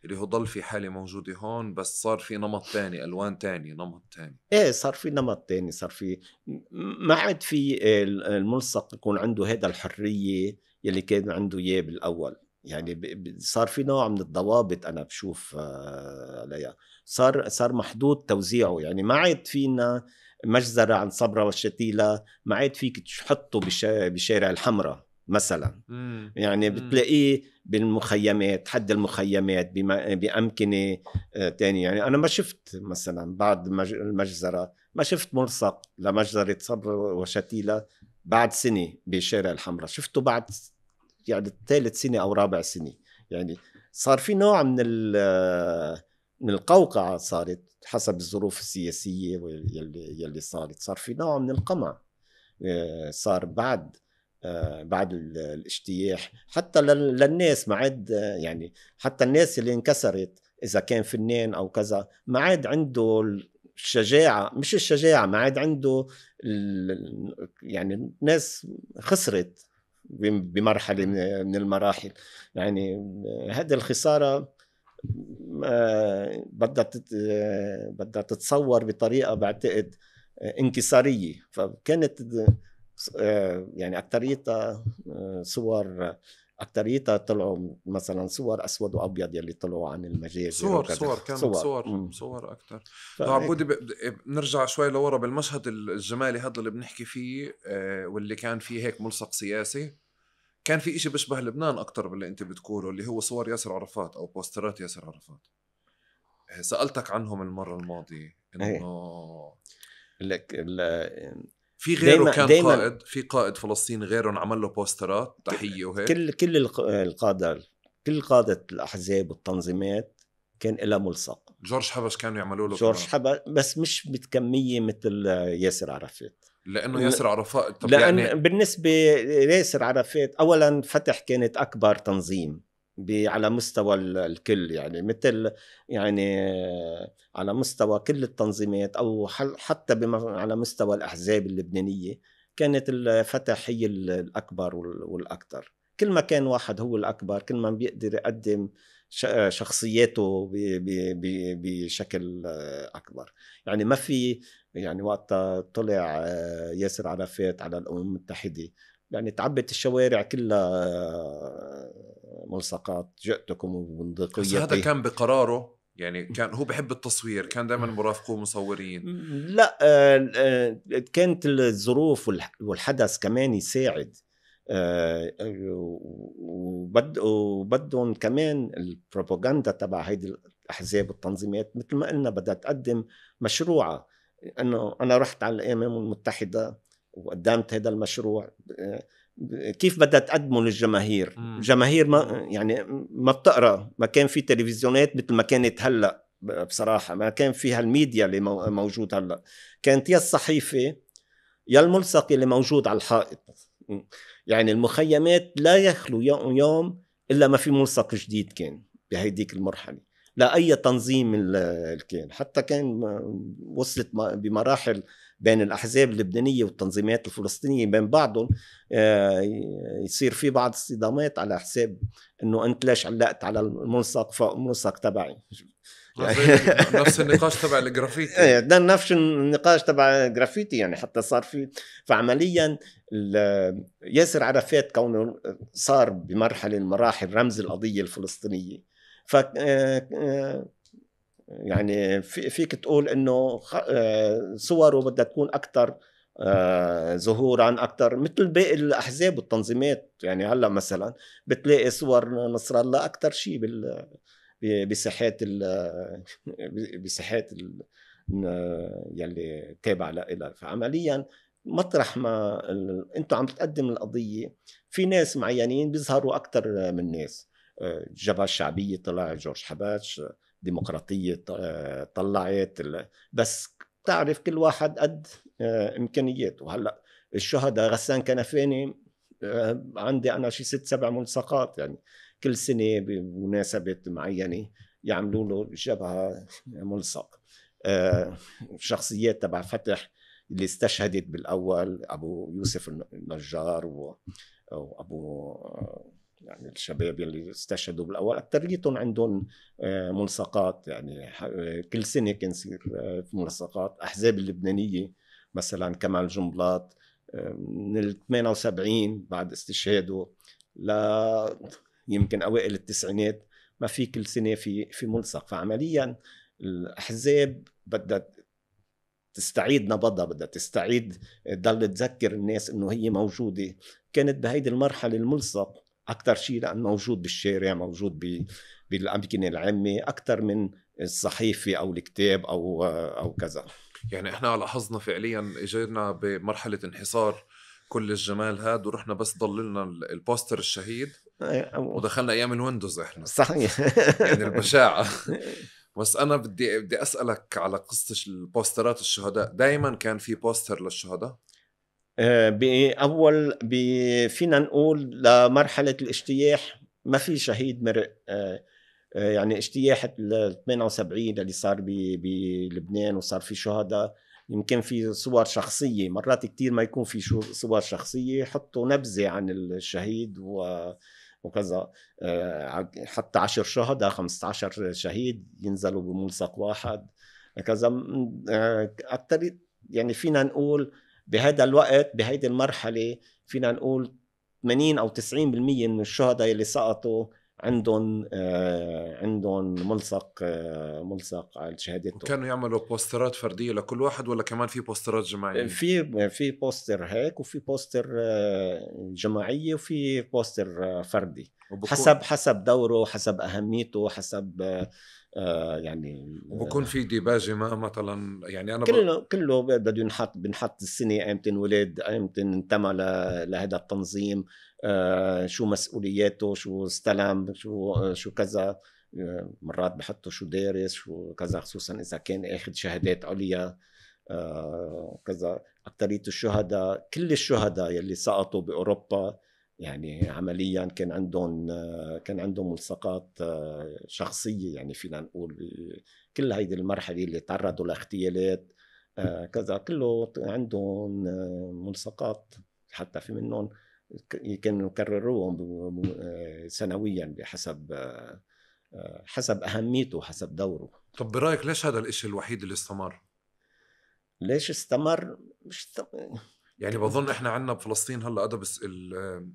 اللي هو ضل في حاله موجوده هون بس صار في نمط تاني، الوان تاني، نمط تاني. ايه صار في نمط تاني، صار في ما عاد في الملصق يكون عنده هذا الحرية يلي كان عنده اياه بالاول. يعني صار في نوع من الضوابط انا بشوف عليها، صار محدود توزيعه. يعني ما عاد فينا مجزرة عن صبرا والشتيلة ما عاد فيك تحطه بشارع الحمراء مثلا. يعني بتلاقيه بالمخيمات، حد المخيمات بأمكنة تاني. يعني أنا ما شفت مثلا بعد المجزرة ما شفت ملصق لمجزرة صبر وشتيلة بعد سنة بشارع الحمراء، شفته بعد يعني ثالث سنة أو رابع سنة. يعني صار في نوع من القوقعة صارت حسب الظروف السياسية يلي صار في نوع من القمع صار بعد الاجتياح حتى للناس. ما عاد يعني حتى الناس اللي انكسرت إذا كان فنان أو كذا ما عاد عنده الشجاعة، مش الشجاعة، ما عاد عنده يعني الناس خسرت بمرحلة من المراحل. يعني هذه الخسارة بدها تتصور بطريقة بعتقد انكسارية. فكانت يعني أكتريتها طلعوا مثلا صور أسود وأبيض يلي طلعوا عن المجازر صور كانت صور أكتر. عبودي بنرجع شوي لورا بالمشهد الجمالي هذا اللي بنحكي فيه واللي كان فيه هيك ملصق سياسي. كان في إشي بيشبه لبنان أكتر باللي أنت بتقوله، اللي هو صور ياسر عرفات أو بوسترات ياسر عرفات. سألتك عنهم المرة الماضية إنه في غيره كان قائد، في قائد فلسطيني غيره عمل له بوسترات تحية وهيك. كل قادة الأحزاب والتنظيمات كان لها ملصق. جورج حبش كانوا يعملوا له جورج حبش، بس مش بكمية مثل ياسر عرفات. لأنه ياسر عرفات لأن يعني بالنسبة ياسر عرفات أولا فتح كانت أكبر تنظيم على مستوى الكل، يعني مثل يعني على مستوى كل التنظيمات أو حتى على مستوى الأحزاب اللبنانية كانت الفتح هي الأكبر والأكثر. كل ما كان واحد هو الأكبر كل ما بيقدر يقدم شخصياته بشكل أكبر. يعني ما في يعني وقت طلع ياسر عرفات على الأمم المتحدة يعني تعبت الشوارع كلها ملصقات جئتكم وبندقيتي. بس هذا كان بقراره، يعني كان هو بحب التصوير، كان دايما مرافقوه مصورين. لا كانت الظروف والحدث كمان يساعد. وبدهم كمان البروباغندا تبع هيدي الأحزاب والتنظيمات مثل ما قلنا بدها تقدم مشروعها. أنه أنا رحت على الأمم المتحدة وقدمت هذا المشروع، كيف بدها تقدمه للجماهير؟ الجماهير ما بتقرأ، ما كان في تلفزيونات مثل ما كانت هلأ بصراحة، ما كان فيها الميديا اللي موجود هلأ. كانت يا الصحيفة يا الملصق اللي موجود على الحائط. يعني المخيمات لا يخلو يوم إلا ما في ملصق جديد كان بهيديك المرحلة. لا أي تنظيم كان، حتى كان وصلت بمراحل بين الأحزاب اللبنانية والتنظيمات الفلسطينية بين بعضهم يصير في بعض الصدامات على حساب إنه أنت ليش علقت على الملصق فوق الملصق تبعي. نفس النقاش تبع الجرافيتي. ده نفس النقاش تبع الجرافيتي. يعني حتى صار في فعمليا ياسر عرفات كونه صار بمرحلة المراحل رمز القضية الفلسطينية. ف يعني فيك تقول انه صوره بدها تكون اكثر ظهورا اكثر مثل باقي الاحزاب والتنظيمات. يعني هلا مثلا بتلاقي صور نصر الله اكثر شيء بساحات يلي تابع لها. فعمليا مطرح ما انتم عم تقدم القضيه في ناس معينين بيظهروا اكثر من ناس. الجبهه الشعبيه طلع جورج حباش، ديمقراطيه طلعت، بس تعرف كل واحد قد امكانياته. هلا الشهداء غسان كنفاني عندي انا شي 6-7 ملصقات، يعني كل سنه بمناسبه معينه يعملوا له جبهه ملصق. شخصيات تبع فتح اللي استشهدت بالاول ابو يوسف النجار أو أبو يعني الشباب يلي استشهدوا بالأول أكتريتهم عندهم ملصقات. يعني كل سنة كان يصير في ملصقات. أحزاب اللبنانية مثلا كمال جنبلاط من ال 78 بعد استشهاده لا يمكن أوائل التسعينات ما في كل سنة في ملصق. فعمليا الأحزاب بدها تستعيد نبضها، بدها تستعيد تضل تذكر الناس انه هي موجودة. كانت بهيدي المرحلة الملصق اكثر شيء لأنه موجود بالشارع، موجود بالأماكن العامة اكثر من الصحيفة او الكتاب او كذا. يعني احنا لاحظنا فعليا اجينا بمرحلة انحصار كل الجمال هاد ورحنا بس ضل لنا البوستر الشهيد ودخلنا ايام الويندوز احنا. صحيح. يعني البشاعة. بس انا بدي اسألك على قصة البوسترات الشهداء. دايما كان في بوستر للشهداء؟ بأول فينا نقول لمرحلة الاجتياح ما في شهيد مرق. يعني اجتياح ال 78 اللي صار بلبنان وصار في شهداء، يمكن في صور شخصية. مرات كتير ما يكون في صور شخصية، يحطوا نبذة عن الشهيد وكذا. حتى 10 شهداء 15 شهيد ينزلوا بملصق واحد كذا. أكتر يعني فينا نقول بهذا الوقت بهيدي المرحلة فينا نقول 80 أو 90% من الشهداء اللي سقطوا عندهم ملصق على شهادتهم. كانوا يعملوا بوسترات فردية لكل واحد ولا كمان في بوسترات جماعية؟ في بوستر هيك، وفي بوستر جماعية، وفي بوستر فردي حسب دوره، حسب أهميته، حسب يعني. وبكون في ديباجة ما مثلا يعني أنا كله بده بنحط السنة ايمتى انولد، ايمتى انتمى لهذا التنظيم، شو مسؤولياته، شو استلم، شو كذا. مرات بحطوا شو دارس، شو كذا، خصوصا اذا كان اخذ شهادات عليا كذا. اكثرية الشهداء، كل الشهداء يلي سقطوا باوروبا يعني عمليا كان عندهم ملصقات شخصية. يعني فينا نقول كل هيدي المرحلة اللي تعرضوا لاغتيالات كذا كله عندهم ملصقات. حتى في منهم كانوا يكرروهم سنويا حسب أهميته، حسب دوره. طب برأيك ليش هذا الاشي الوحيد اللي استمر؟ ليش استمر؟ يعني بظن احنا عنا بفلسطين هلا هذا بس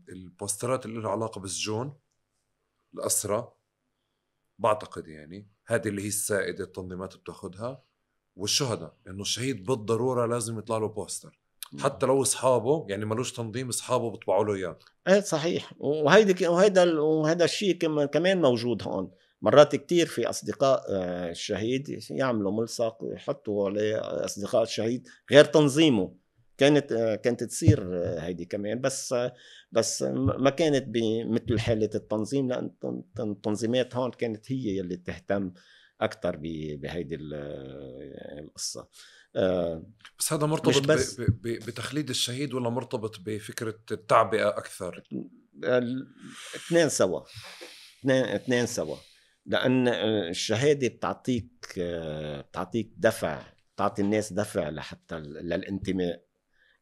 البوسترات اللي لها علاقة بالسجون، الأسرى، بعتقد يعني هذه اللي هي السائدة التنظيمات بتاخدها، والشهداء انه الشهيد بالضرورة لازم يطلع له بوستر حتى لو اصحابه يعني ملوش تنظيم، اصحابه بيطبعوا له اياه. ايه صحيح. وهذا الشيء كمان موجود هون. مرات كتير في اصدقاء الشهيد يعملوا ملصق ويحطوا عليه اصدقاء الشهيد غير تنظيمه. كانت تصير هيدي كمان، بس ما كانت بمثل حالة التنظيم، لأن التنظيمات هون كانت هي اللي تهتم أكتر بهيدي القصة. بس هذا مرتبط بتخليد الشهيد ولا مرتبط بفكرة التعبئة أكثر؟ اثنين سوا. لأن الشهادة بتعطيك دفع، بتعطي الناس دفع لحتى للانتماء.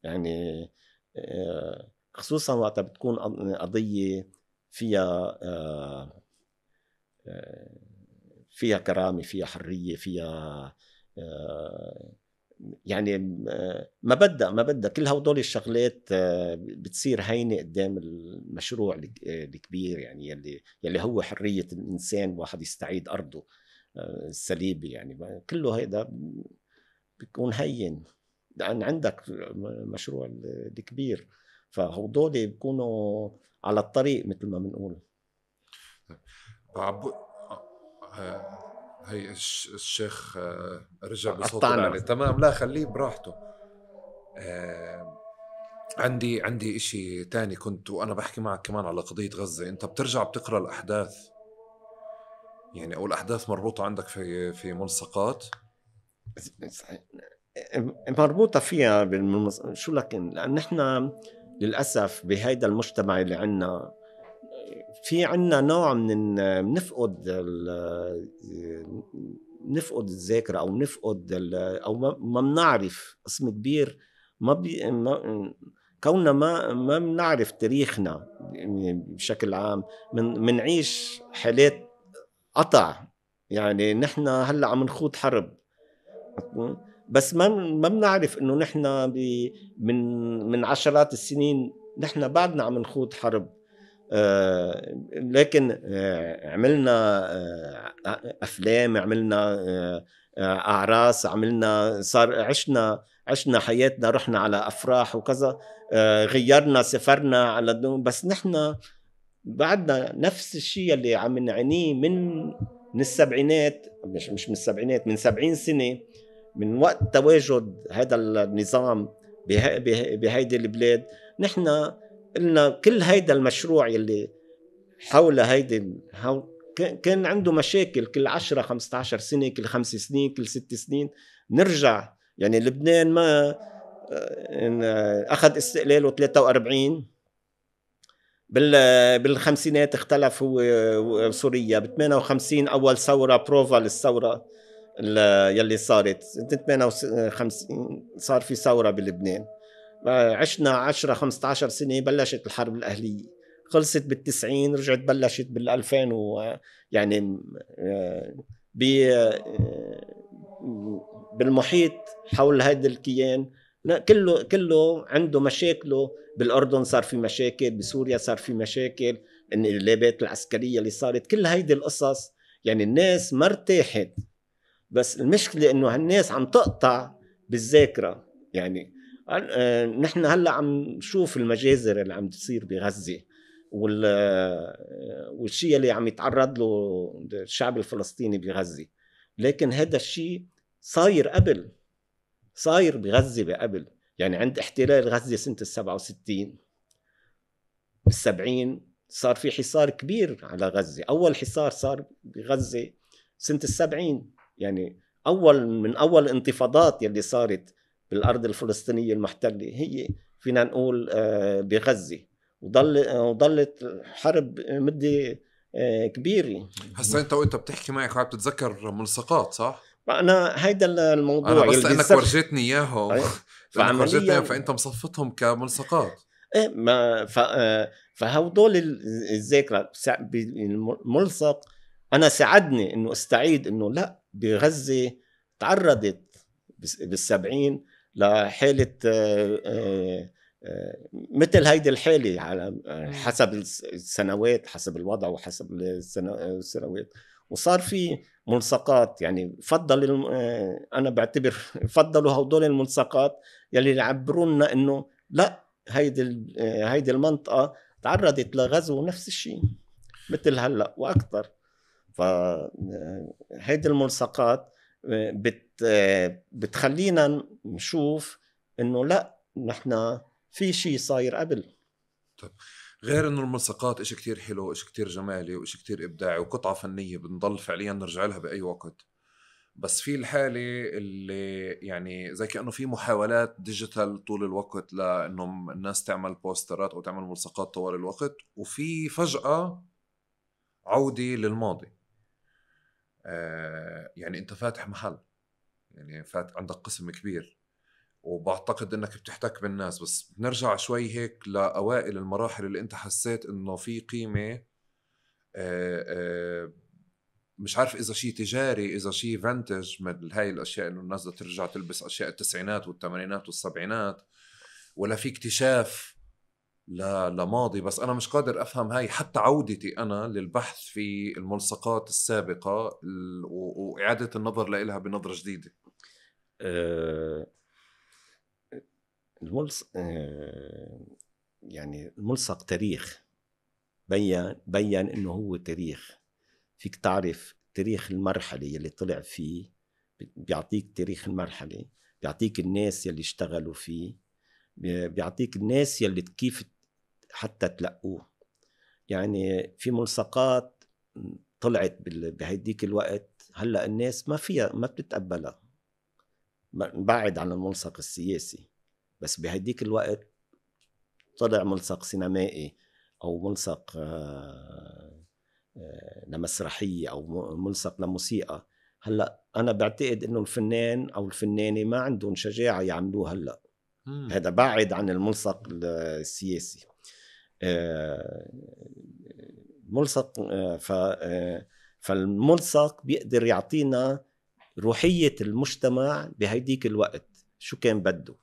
يعني خصوصا وقت بتكون قضية فيها كرامة، فيها حرية، فيها يعني ما بدها كل هدول الشغلات بتصير هينة قدام المشروع الكبير، يعني يلي هو حرية الإنسان، واحد يستعيد أرضه السليبة. يعني كله هيدا بيكون هين لأن عندك مشروع الكبير، فهدول بيكونوا على الطريق مثل ما بنقول. هي الشيخ رجع بصوت العالي. تمام، لا خليه براحته. عندي اشي تاني كنت وانا بحكي معك كمان على قضية غزة. انت بترجع بتقرأ الاحداث يعني، او الاحداث مربوطة عندك في ملصقات مربوطة فيها شو لكن لأن احنا للأسف بهيدا المجتمع اللي عنا في عنا نوع من نفقد الذاكرة، أو ما بنعرف قسم كبير كوننا ما بنعرف تاريخنا بشكل عام، منعيش حالات قطع. يعني نحن هلأ عم نخوض حرب، بس ما بنعرف انه نحن من عشرات السنين نحن بعدنا عم نخوض حرب. لكن عملنا افلام، عملنا اعراس، عملنا صار عشنا حياتنا، رحنا على افراح وكذا، غيرنا، سافرنا على بس نحن بعدنا نفس الشيء اللي عم نعانيه من السبعينات، مش من السبعينات، من 70 سنة من وقت تواجد هذا النظام بهيدي البلاد. نحن قلنا كل هيدا المشروع يلي حول هيدي كان عنده مشاكل كل 10-15 سنة، كل 5 سنين، كل 6 سنين نرجع. يعني لبنان ما أخذ استقلاله 43، بالخمسينات اختلف هو وسوريا، ب58 أول ثورة بروفا للثورة يلي صارت 58 صار في ثورة بلبنان. عشنا 10-15 سنة، بلشت الحرب الأهلية، خلصت بال90، رجعت بلشت بال2000 يعني بالمحيط حول هذا الكيان كله عنده مشاكله. بالأردن صار في مشاكل، بسوريا صار في مشاكل، الانقلابات العسكرية اللي صارت، كل هيدي القصص. يعني الناس ما ارتاحت، بس المشكلة انه هالناس عم تقطع بالذاكرة. يعني نحن هلأ عم نشوف المجازر اللي عم تصير بغزة والشيء اللي عم يتعرض له الشعب الفلسطيني بغزة. لكن هذا الشيء صاير قبل، صاير بغزة قبل. يعني عند احتلال غزة سنة 67، بال70 صار في حصار كبير على غزة. أول حصار صار بغزة سنة 70، يعني من أول انتفاضات يلي صارت بالأرض الفلسطينية المحتلة هي فينا نقول بغزة، وضلت حرب مدة كبيرة. هسا انت وانت بتحكي معك عم بتتذكر ملصقات، صح؟ أنا هيدا الموضوع انا بس لانك ورجيتني اياهم فعمليا فانت مصفتهم كملصقات. ايه ما فهودول الذاكرة الملصق. انا ساعدني انه استعيد انه لا، بغزة تعرضت بال70 لحالة مثل هيدي الحالة، على حسب السنوات، حسب الوضع وحسب السنوات. وصار في ملصقات. يعني أنا بعتبر فضلوا هدول الملصقات يلي يعبرونا إنه لا، هيدي المنطقة تعرضت لغزو نفس الشيء مثل هلأ وأكثر. فهيدي الملصقات بتخلينا نشوف إنه لا، نحن في شيء صاير قبل. طيب، غير انه الملصقات اشي كتير حلو، اشي كتير جمالي، واشي كتير ابداعي، وقطعة فنية بنضل فعليا نرجع لها باي وقت. بس في الحالة اللي يعني زي كأنه في محاولات ديجيتال طول الوقت لانه الناس تعمل بوسترات او تعمل ملصقات طوال الوقت، وفي فجأة عودة للماضي. يعني انت فاتح محل، يعني عندك قسم كبير، وبعتقد انك بتحتك بالناس، بس بنرجع شوي هيك لأوائل المراحل اللي انت حسيت انه في قيمة. مش عارف اذا شيء تجاري، اذا شيء فانتج من هاي الاشياء، انه الناس بدها ترجع تلبس اشياء التسعينات والثمانينات والسبعينات، ولا في اكتشاف لماضي. بس انا مش قادر افهم هاي حتى عودتي انا للبحث في الملصقات السابقة واعادة النظر لها بنظرة جديدة. يعني الملصق تاريخ، بيّن انه هو تاريخ. فيك تعرف تاريخ المرحلة اللي طلع فيه، بيعطيك تاريخ المرحلة، بيعطيك الناس يلي اشتغلوا فيه، بيعطيك الناس يلي كيف حتى تلقوه. يعني في ملصقات طلعت بهيديك الوقت هلأ الناس ما بتتقبلها، بعد عن الملصق السياسي. بس بهيديك الوقت طلع ملصق سينمائي أو ملصق لمسرحية أو ملصق لموسيقى. هلأ أنا بعتقد إنه الفنان أو الفنانة ما عندهم شجاعة يعملوه هلأ. هذا بعد عن الملصق السياسي. ملصق فالملصق بيقدر يعطينا روحية المجتمع بهيديك الوقت شو كان بده.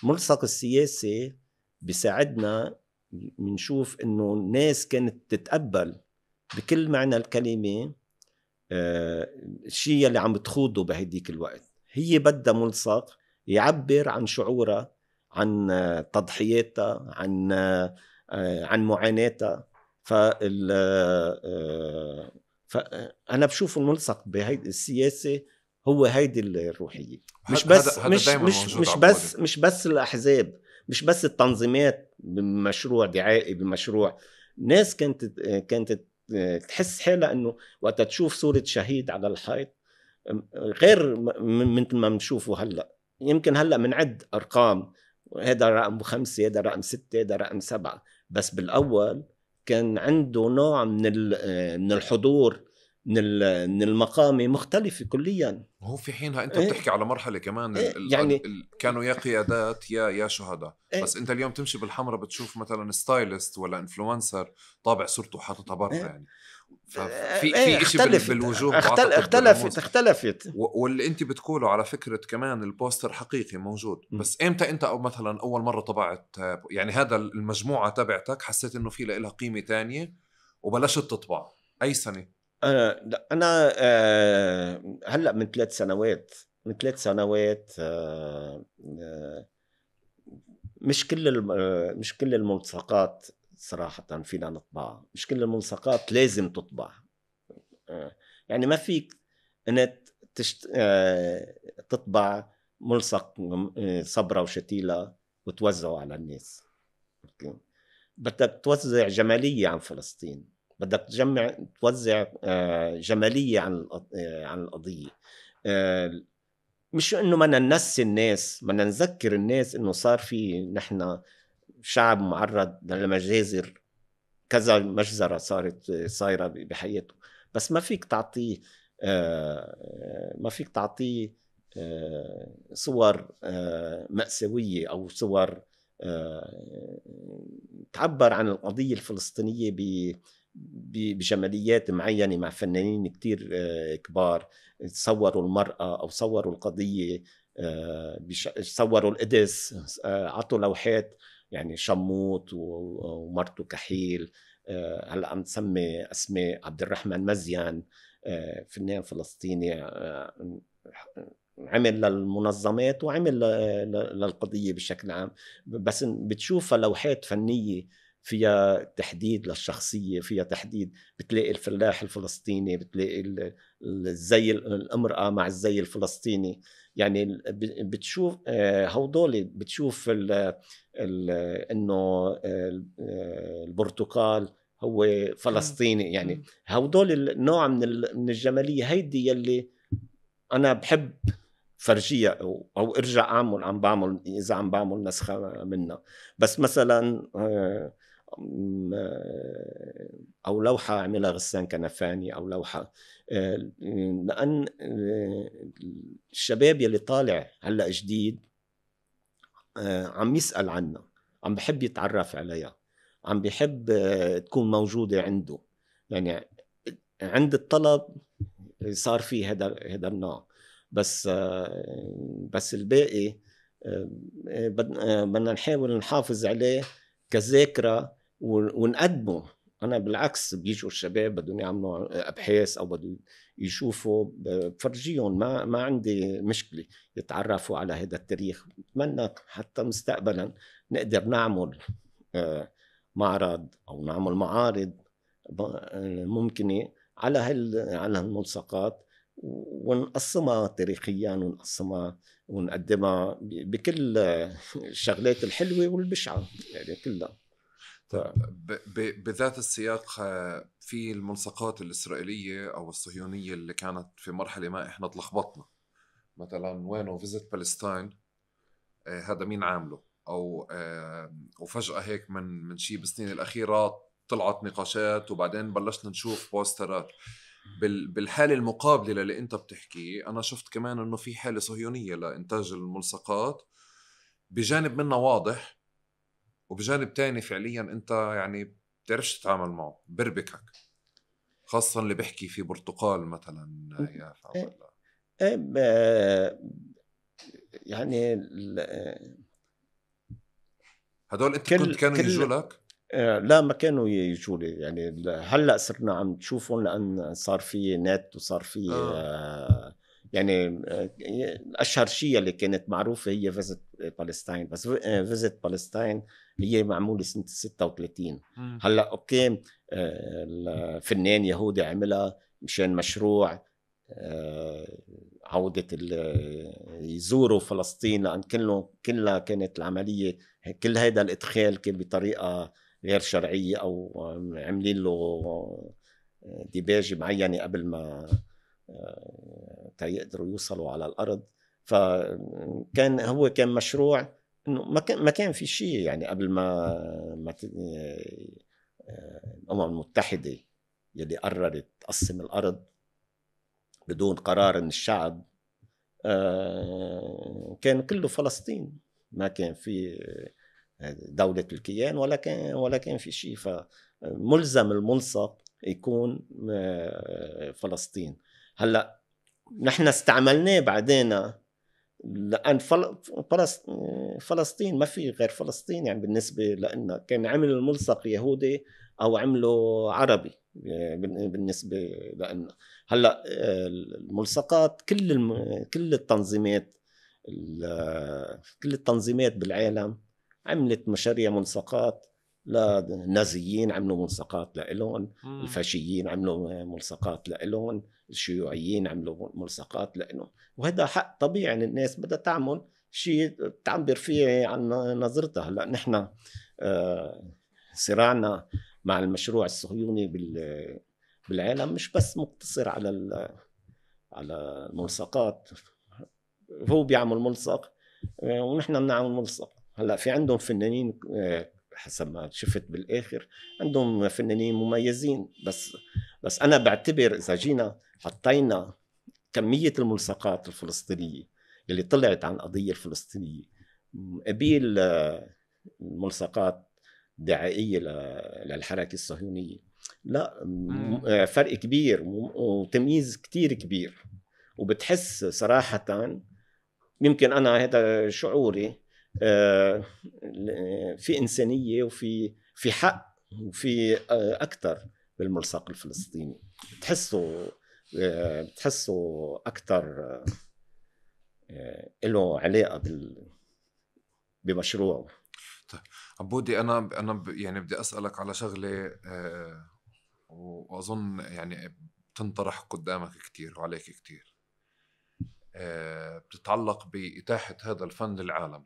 ملصق السياسي بيساعدنا منشوف انه الناس كانت تتقبل بكل معنى الكلمة الشيء اللي عم بتخوضه بهيديك الوقت. هي بدها ملصق يعبر عن شعورها، عن تضحياتها، عن معاناتها. فأنا بشوف الملصق بهيدي السياسة هو هيدي الروحية. مش بس الأحزاب، مش بس التنظيمات بمشروع دعائي، بمشروع ناس كانت تحس حالها انه وقت تشوف صورة شهيد على الحيط غير مثل ما بنشوفه هلا. يمكن هلا منعد ارقام، هذا رقم 5، هذا رقم 6، هذا رقم 7، بس بالاول كان عنده نوع من الحضور، من المقامة مختلفة كليا. وهو في حينها انت بتحكي على مرحلة كمان يعني كانوا يا قيادات يا شهداء. بس انت اليوم تمشي بالحمرة بتشوف مثلا ستايلست ولا انفلونسر طابع صورته حاططها برا يعني. ففي اشي بالوجوه اختلفت. واللي انت بتقوله على فكرة كمان البوستر حقيقي موجود. بس امتى انت او مثلا اول مرة طبعت يعني هذا المجموعة تبعتك حسيت انه في لها قيمة تانية وبلشت تطبع؟ اي سنة؟ انا هلا من 3 سنوات. مش كل الملصقات صراحة فينا نطبعها. مش كل الملصقات لازم تطبع. يعني ما فيك انك تطبع ملصق صبرة وشتيلة وتوزعه على الناس. بدك توزع جمالية عن فلسطين، بدك توزع جمالية عن القضية. مش انه بدنا ننسي الناس، بدنا نذكر الناس انه صار في نحن شعب معرض لمجازر، كذا مجزرة صايرة بحياته. بس ما فيك تعطيه صور مأساوية أو صور تعبر عن القضية الفلسطينية بجماليات معينة مع فنانين كتير كبار صوروا المرأة أو صوروا القضية، صوروا القدس، عطوا لوحات يعني شموت ومرته كحيل. هلا عم تسمي اسماء عبد الرحمن مزيان، فنان فلسطيني عمل للمنظمات وعمل للقضية بشكل عام. بس بتشوفها لوحات فنية فيها تحديد للشخصية، فيها تحديد. بتلاقي الفلاح الفلسطيني، بتلاقي الزي الامرأة مع الزي الفلسطيني. يعني بتشوف هودول، بتشوف انه البرتقال هو فلسطيني. يعني هودول النوع من الجمالية هيدي يلي انا بحب فرجية او ارجع اذا عم بعمل نسخة منها. بس مثلا او لوحة عملها غسان كنفاني او لوحة، لان الشباب يلي طالع هلا جديد عم يسأل عنها، عم بحب يتعرف عليها، عم بحب تكون موجودة عنده. يعني عند الطلب صار فيه هذا النوع. بس الباقي بدنا نحاول نحافظ عليه كذاكرة ونقدمه. أنا بالعكس بيجوا الشباب بدهم يعملوا أبحاث أو بدهم يشوفوا، بفرجيهم، ما عندي مشكلة يتعرفوا على هذا التاريخ. بتمنى حتى مستقبلا نقدر نعمل معرض أو نعمل معارض ممكنة على الملصقات ونقسمها تاريخيا، ونقسمها ونقدمها بكل الشغلات الحلوة والبشعة يعني كلها. بذات السياق في الملصقات الإسرائيلية أو الصهيونية اللي كانت في مرحلة ما إحنا تلخبطنا، مثلا وينه فيزيت بالستاين، هذا مين عامله؟ أو وفجأة هيك من شيء بالسنين الأخيرة طلعت نقاشات وبعدين بلشنا نشوف بوسترات. بالحالة المقابلة اللي انت بتحكي انا شفت كمان انه في حالة صهيونية لانتاج الملصقات بجانب منه واضح، وبجانب تاني فعليا انت يعني بتعرفش تتعامل معه، بربكك، خاصة اللي بيحكي في برتقال مثلا يافا ولا يعني هدول انت كنت كانوا يجوا لك؟ لا ما كانوا يجوا لي، يعني هلا صرنا عم تشوفهم لان صار في نت وصار في يعني اشهر شيء اللي كانت معروفه هي فيزيت بالستاين، بس فيزيت بالستاين هي معموله سنه 36. هلا اوكي الفنان يهودي عملها مشان مشروع عودة يزوروا فلسطين، لأن كلها كانت العملية، كل هذا الإدخال كان بطريقة غير شرعية أو عاملين له ديباجة معينة قبل ما يقدروا يوصلوا على الأرض. فكان هو كان مشروع إنه ما كان في شيء، يعني قبل ما الأمم المتحدة يلي قررت تقسم الأرض بدون قرار من الشعب، كان كله فلسطين، ما كان في دولة الكيان ولا كان في شيء. فملزم الملصق يكون فلسطين. هلا نحن استعملناه بعدين لأن فلسطين ما في غير فلسطين، يعني بالنسبة لنا كان عمل الملصق يهودي أو عمله عربي بالنسبة لنا. هلا الملصقات كل التنظيمات بالعالم عملت مشاريع ملصقات، للنازيين عملوا ملصقات لإلهم، الفاشيين عملوا ملصقات لإلهم، الشيوعيين عملوا ملصقات لإلهم. وهذا حق طبيعي، يعني الناس بدها تعمل شيء تعبر فيه عن نظرتها. هلا نحن صراعنا مع المشروع الصهيوني بالعالم مش بس مقتصر على الملصقات. هو بيعمل ملصق ونحن بنعمل ملصق. هلا في عندهم فنانين حسب ما شفت بالاخر عندهم فنانين مميزين، بس انا بعتبر اذا جينا حطينا كمية الملصقات الفلسطينية اللي طلعت عن القضية الفلسطينية قبيل الملصقات دعائية للحركة الصهيونية، لا فرق كبير وتمييز كتير كبير. وبتحس صراحة، يمكن أنا هذا شعوري، في إنسانية وفي حق وفي أكتر بالملصق الفلسطيني. بتحسه أكتر له علاقة بمشروعه. طيب عبودي، أنا يعني بدي أسألك على شغلة وأظن يعني بتنطرح قدامك كتير وعليك كتير، بتتعلق بإتاحة هذا الفن للعالم.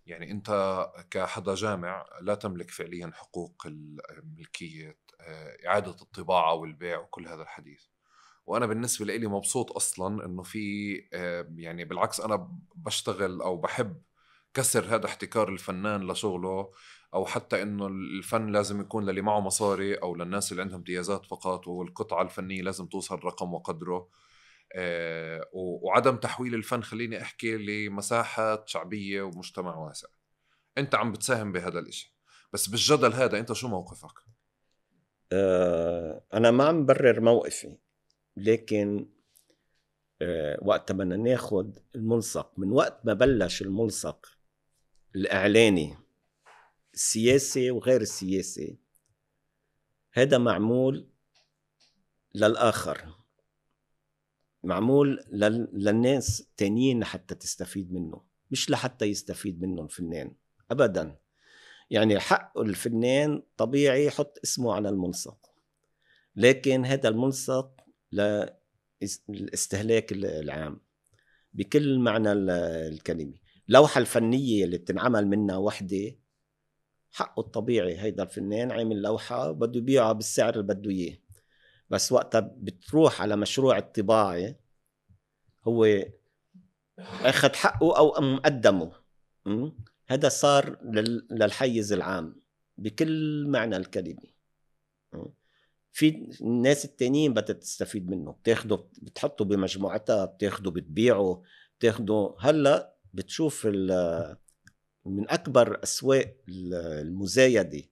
يعني أنت كحدا جامع لا تملك فعليا حقوق الملكية، إعادة الطباعة والبيع وكل هذا الحديث. وأنا بالنسبة لي مبسوط أصلا أنه في يعني بالعكس أنا بشتغل أو بحب كسر هذا احتكار الفنان لشغله، أو حتى أنه الفن لازم يكون للي معه مصاري أو للناس اللي عندهم امتيازات فقط، والقطعة الفنية لازم توصل رقم وقدره. وعدم تحويل الفن، خليني أحكي، لمساحات شعبية ومجتمع واسع. أنت عم بتساهم بهذا الإشي، بس بالجدل هذا أنت شو موقفك؟ أنا ما عم برر موقفي، لكن وقت بدنا ناخد الملصق، من وقت ما بلش الملصق الإعلاني السياسي وغير السياسي، هذا معمول للآخر، معمول للناس التانيين حتى تستفيد منه، مش لحتى يستفيد منه الفنان أبدا. يعني حق الفنان طبيعي يحط اسمه على الملصق، لكن هذا الملصق للاستهلاك العام بكل معنى الكلمة. لوحة الفنية اللي بتنعمل منها وحدة حقه الطبيعي، هيدا الفنان عامل لوحة بده يبيعها بالسعر اللي بده إياه، بس وقتها بتروح على مشروع الطباعة هو أخذ حقه أو مقدمه. هذا صار للحيز العام بكل معنى الكلمة. في الناس التانيين بدها تستفيد منه، بتاخده بتحطه بمجموعتها، بتاخده بتبيعه، بتاخده. هلأ بتشوف من أكبر أسواق المزايدة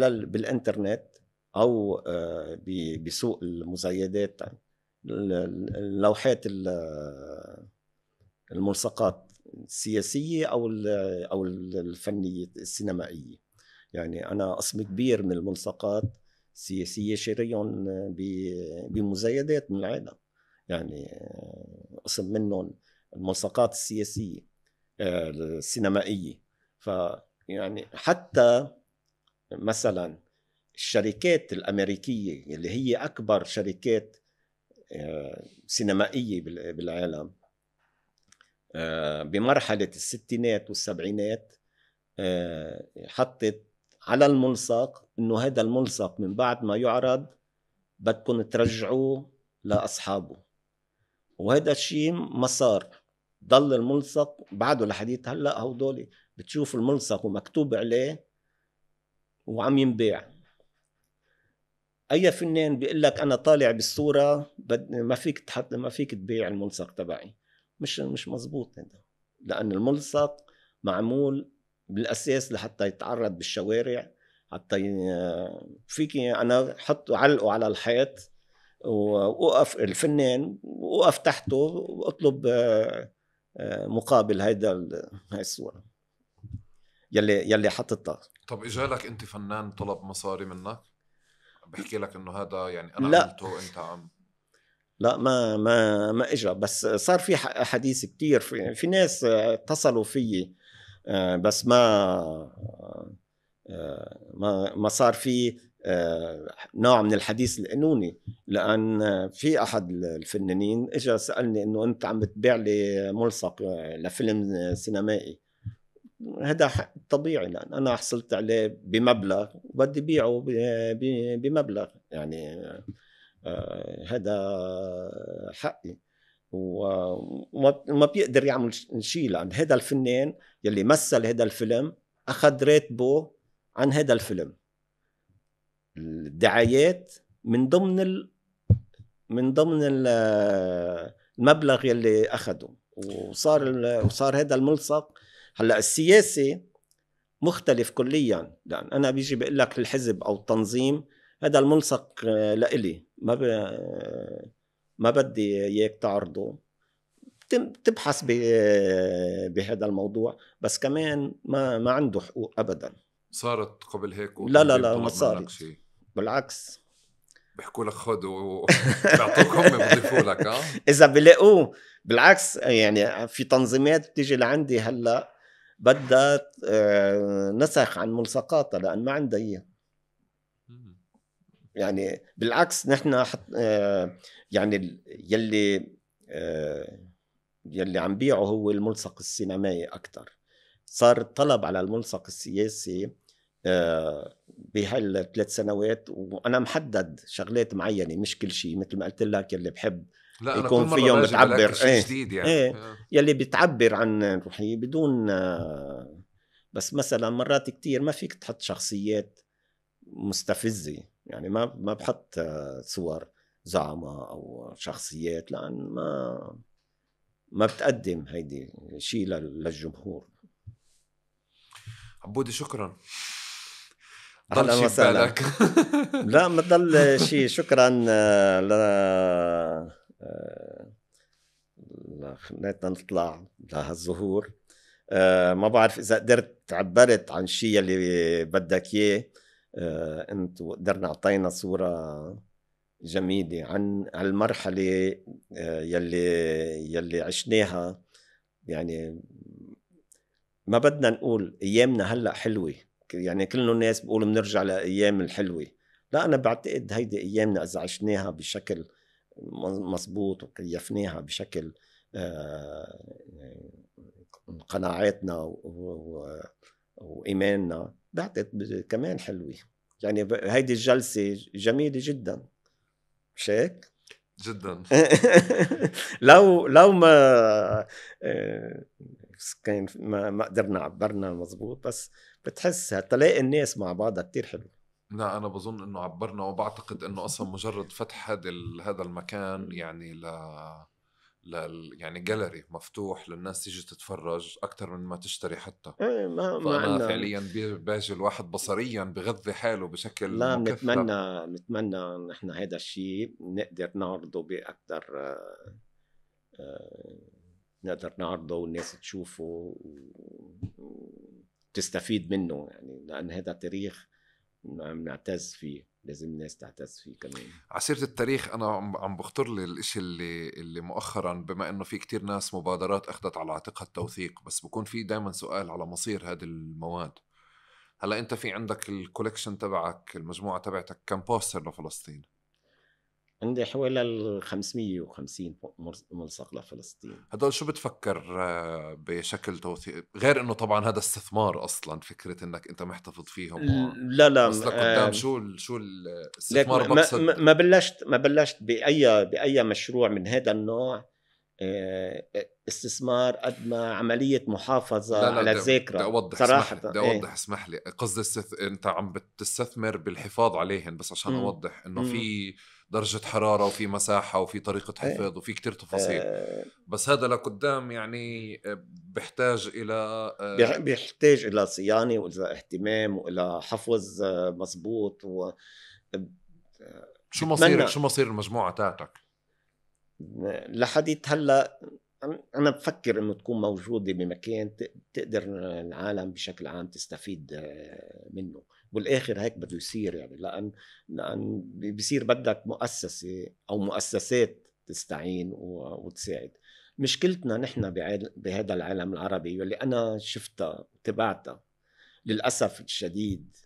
بالإنترنت أو بسوق المزايدات، اللوحات الملصقات السياسية أو الفنية السينمائية. يعني أنا قسم كبير من الملصقات السياسية شاريهم بمزايدات من العالم، يعني قسم منهم الملصقات السياسية السينمائية. فيعني حتى مثلا الشركات الأمريكية اللي هي أكبر شركات سينمائية بالعالم بمرحلة الستينات والسبعينات حطت على الملصق إنه هذا الملصق من بعد ما يعرض بدكم ترجعوه لأصحابه، وهذا الشيء ما صار. ضل الملصق بعده لحديث هلأ، هودولي بتشوف الملصق ومكتوب عليه وعم ينباع. أي فنان بيقول لك أنا طالع بالصورة ما فيك تبيع الملصق تبعي، مش مزبوط هذا، لأن الملصق معمول بالأساس لحتى يتعرض بالشوارع، حتى فيك أنا حطه علقه على الحيط ووقف الفنان ووقف تحته واطلب مقابل هاي الصورة يلي حطتها. طب اجالك انت فنان طلب مصاري منك بحكي لك انه هذا يعني انا لا. عملته انت عم؟ لا ما اجى، بس صار في حديث كتير في ناس اتصلوا فيي، بس ما صار في نوع من الحديث القانوني، لأن في أحد الفنانين إجا سألني إنه أنت عم بتبيع لي ملصق لفيلم سينمائي. هذا طبيعي، لأن أنا حصلت عليه بمبلغ وبدي بيعه بمبلغ، يعني هذا حقي، وما بيقدر يعمل شيء، لأن هذا الفنان يلي مثل هذا الفيلم أخذ راتبه عن هذا الفيلم، الدعايات من ضمن المبلغ يلي أخده، وصار هذا الملصق. هلا السياسي مختلف كليا، لأن أنا بيجي بقول لك الحزب أو التنظيم هذا الملصق لإلي، ما بدي إياك تعرضه، تبحث بهذا الموضوع، بس كمان ما عنده حقوق أبدا. صارت قبل هيك؟ لا ما صارت، بالعكس بيحكوا لك خذ وبيعطوك هم بيضيفوا لك. إذا بلاقوه بالعكس، يعني في تنظيمات بتيجي لعندي هلا بدها نسخ عن ملصقاتها لأن ما عندها إياه. يعني بالعكس نحن يعني يلي عم بيعه هو الملصق السينمائي أكتر. صار الطلب على الملصق السياسي بهال3 سنوات، وأنا محدد شغلات معينة مش كل شيء، مثل ما قلت لك يلي بحب يكون فيهم بتعبر جديد يعني. يلي بتعبر عن روحي بدون بس مثلا مرات كتير ما فيك تحط شخصيات مستفزة، يعني ما بحط صور زعماء أو شخصيات، لأن ما بتقدم هيدي شيء للجمهور. عبودي شكرا. ضل شي بالك؟ لا ما ضل شيء. شكرا خليتنا نطلع لهالظهور. ما بعرف إذا قدرت عبرت عن شيء اللي بدك إياه أنت، وقدرنا أعطينا صورة جميلة عن المرحلة يلي عشناها. يعني ما بدنا نقول أيامنا هلأ حلوة، يعني كل الناس بيقولوا بنرجع لأيام الحلوة. لا، أنا بعتقد هيدي أيامنا إذا عشناها بشكل مظبوط وكيفناها بشكل قناعاتنا وإيماننا، بعتقد كمان حلوة. يعني هيدي الجلسة جميلة جدا، مش هيك؟ جدا. لو ما كان ما قدرنا عبرنا مزبوط، بس بتحس تلاقي الناس مع بعضها كتير حلو. لا أنا بظن إنه عبرنا، وبعتقد إنه أصلا مجرد فتح هذا المكان يعني يعني جاليري مفتوح للناس تيجي تتفرج أكتر من ما تشتري حتى. ما فأنا فعليا باجي الواحد بصريا بغذي حاله بشكل لا مكثف. نتمنى نحن هذا الشيء نقدر نعرضه بأكثر، نقدر نعرضه والناس تشوفه وتستفيد منه، يعني لأن هذا تاريخ نعتز فيه، لازم الناس تعتز فيه كمان. عسيرة التاريخ أنا عم بخطر لي الإشي اللي مؤخرا، بما إنه في كتير ناس مبادرات أخذت على عاتقها التوثيق، بس بكون في دايما سؤال على مصير هذه المواد. هلا أنت في عندك الكوليكشن تبعك، المجموعة تبعتك، كم بوستر لفلسطين؟ عندي حوالي 550 ملصق لفلسطين. هدول شو بتفكر بشكل توثيق، غير انه طبعا هذا استثمار اصلا، فكرة انك انت محتفظ فيهم لا بس لقدام شو الاستثمار؟ ما بلشت بأي مشروع من هذا النوع استثمار قد ما عملية محافظة على الذاكرة. بدي أوضح، صراحة بدي أوضح، اسمح لي، قصدي أنت عم بتستثمر بالحفاظ عليهم، بس عشان أوضح إنه في درجة حرارة وفي مساحة وفي طريقة حفظ وفي كتير تفاصيل، بس هذا لقدام يعني بيحتاج إلى صيانة وإلى اهتمام وإلى حفظ مزبوط. شو مصير المجموعة تاعتك؟ لحديت هلا أنا بفكر إنه تكون موجودة بمكان تقدر العالم بشكل عام تستفيد منه، والآخر هيك بده يصير، يعني لأن بيصير بدك مؤسسة أو مؤسسات تستعين وتساعد. مشكلتنا نحن بهذا العالم العربي واللي أنا شفتها وتبعتها للأسف الشديد،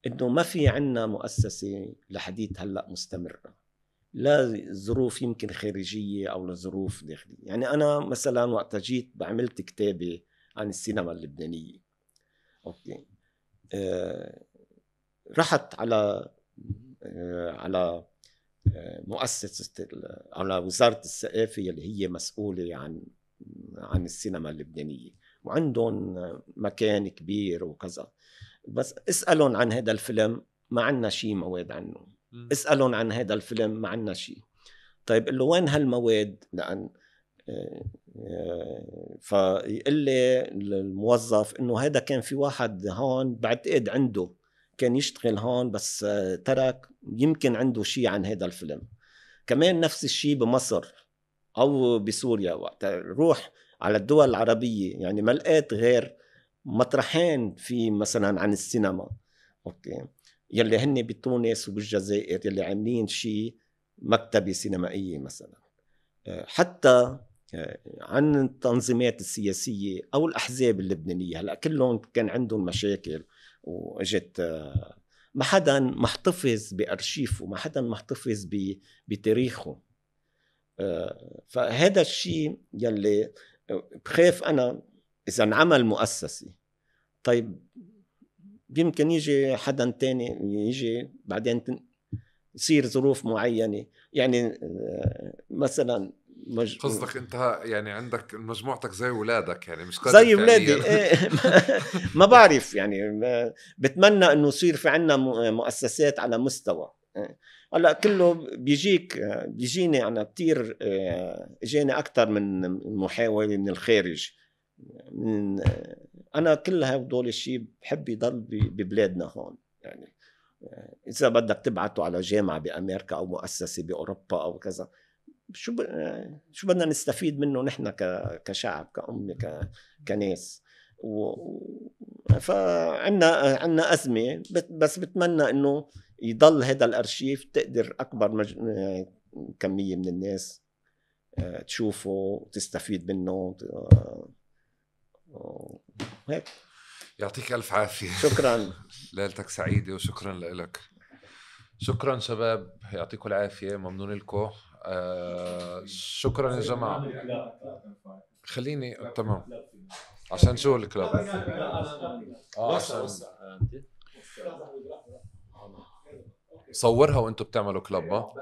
إنه ما في عنا مؤسسة لحديت هلا مستمرة، لا ظروف يمكن خارجية أو لظروف داخلية. يعني أنا مثلا وقت جيت بعملت كتابة عن السينما اللبنانية، أوكي، رحت على مؤسسة، على وزارة الثقافة اللي هي مسؤولة عن السينما اللبنانية، وعندهم مكان كبير وكذا، بس اسألهم عن هذا الفيلم ما عنا شيء مواد عنه، اسألهم عن هذا الفيلم ما عنا شيء. طيب قل له وين هالمواد؟ لأن فيقول لي الموظف إنه هذا كان في واحد هون بعتقد عنده كان يشتغل هون بس ترك، يمكن عنده شيء عن هذا الفيلم. كمان نفس الشيء بمصر أو بسوريا، وقت روح على الدول العربية يعني ما لقيت غير مطرحين في مثلا عن السينما، أوكي، يلي هن بتونس وبالجزائر يلي عاملين شيء مكتبة سينمائية مثلا. حتى عن التنظيمات السياسية أو الأحزاب اللبنانية، هلأ كلهم كان عندهم مشاكل وإجت ما حدا محتفظ بأرشيفه، ما حدا محتفظ بتاريخه. فهذا الشيء يلي بخاف أنا إذا انعمل مؤسسة، طيب يمكن يجي حدا تاني يجي بعدين يصير ظروف معينة، يعني مثلا قصدك انت يعني عندك مجموعتك زي ولادك، يعني مش زي ولادي ما بعرف، يعني بتمنى انه يصير في عنا مؤسسات على مستوى. هلا كله بيجيني انا كتير، اجاني اكثر من محاولة من الخارج. انا كل هدول الشيء بحب يضل ببلادنا هون، يعني اذا بدك تبعته على جامعة بامريكا او مؤسسة باوروبا او كذا، شو بدنا نستفيد منه نحن كشعب، كأمة، كناس. فعنا أزمة، بس بتمنى إنه يضل هذا الأرشيف تقدر أكبر كمية من الناس تشوفه وتستفيد منه. هيك. يعطيك ألف عافية. شكرا. ليلتك سعيدة وشكرا لك. شكرا شباب، يعطيكم العافية، ممنون لكم. شكرا يا جماعة. خليني تمام عشان شو الكلاب عشان صورها وانتم بتعملوا كلاب.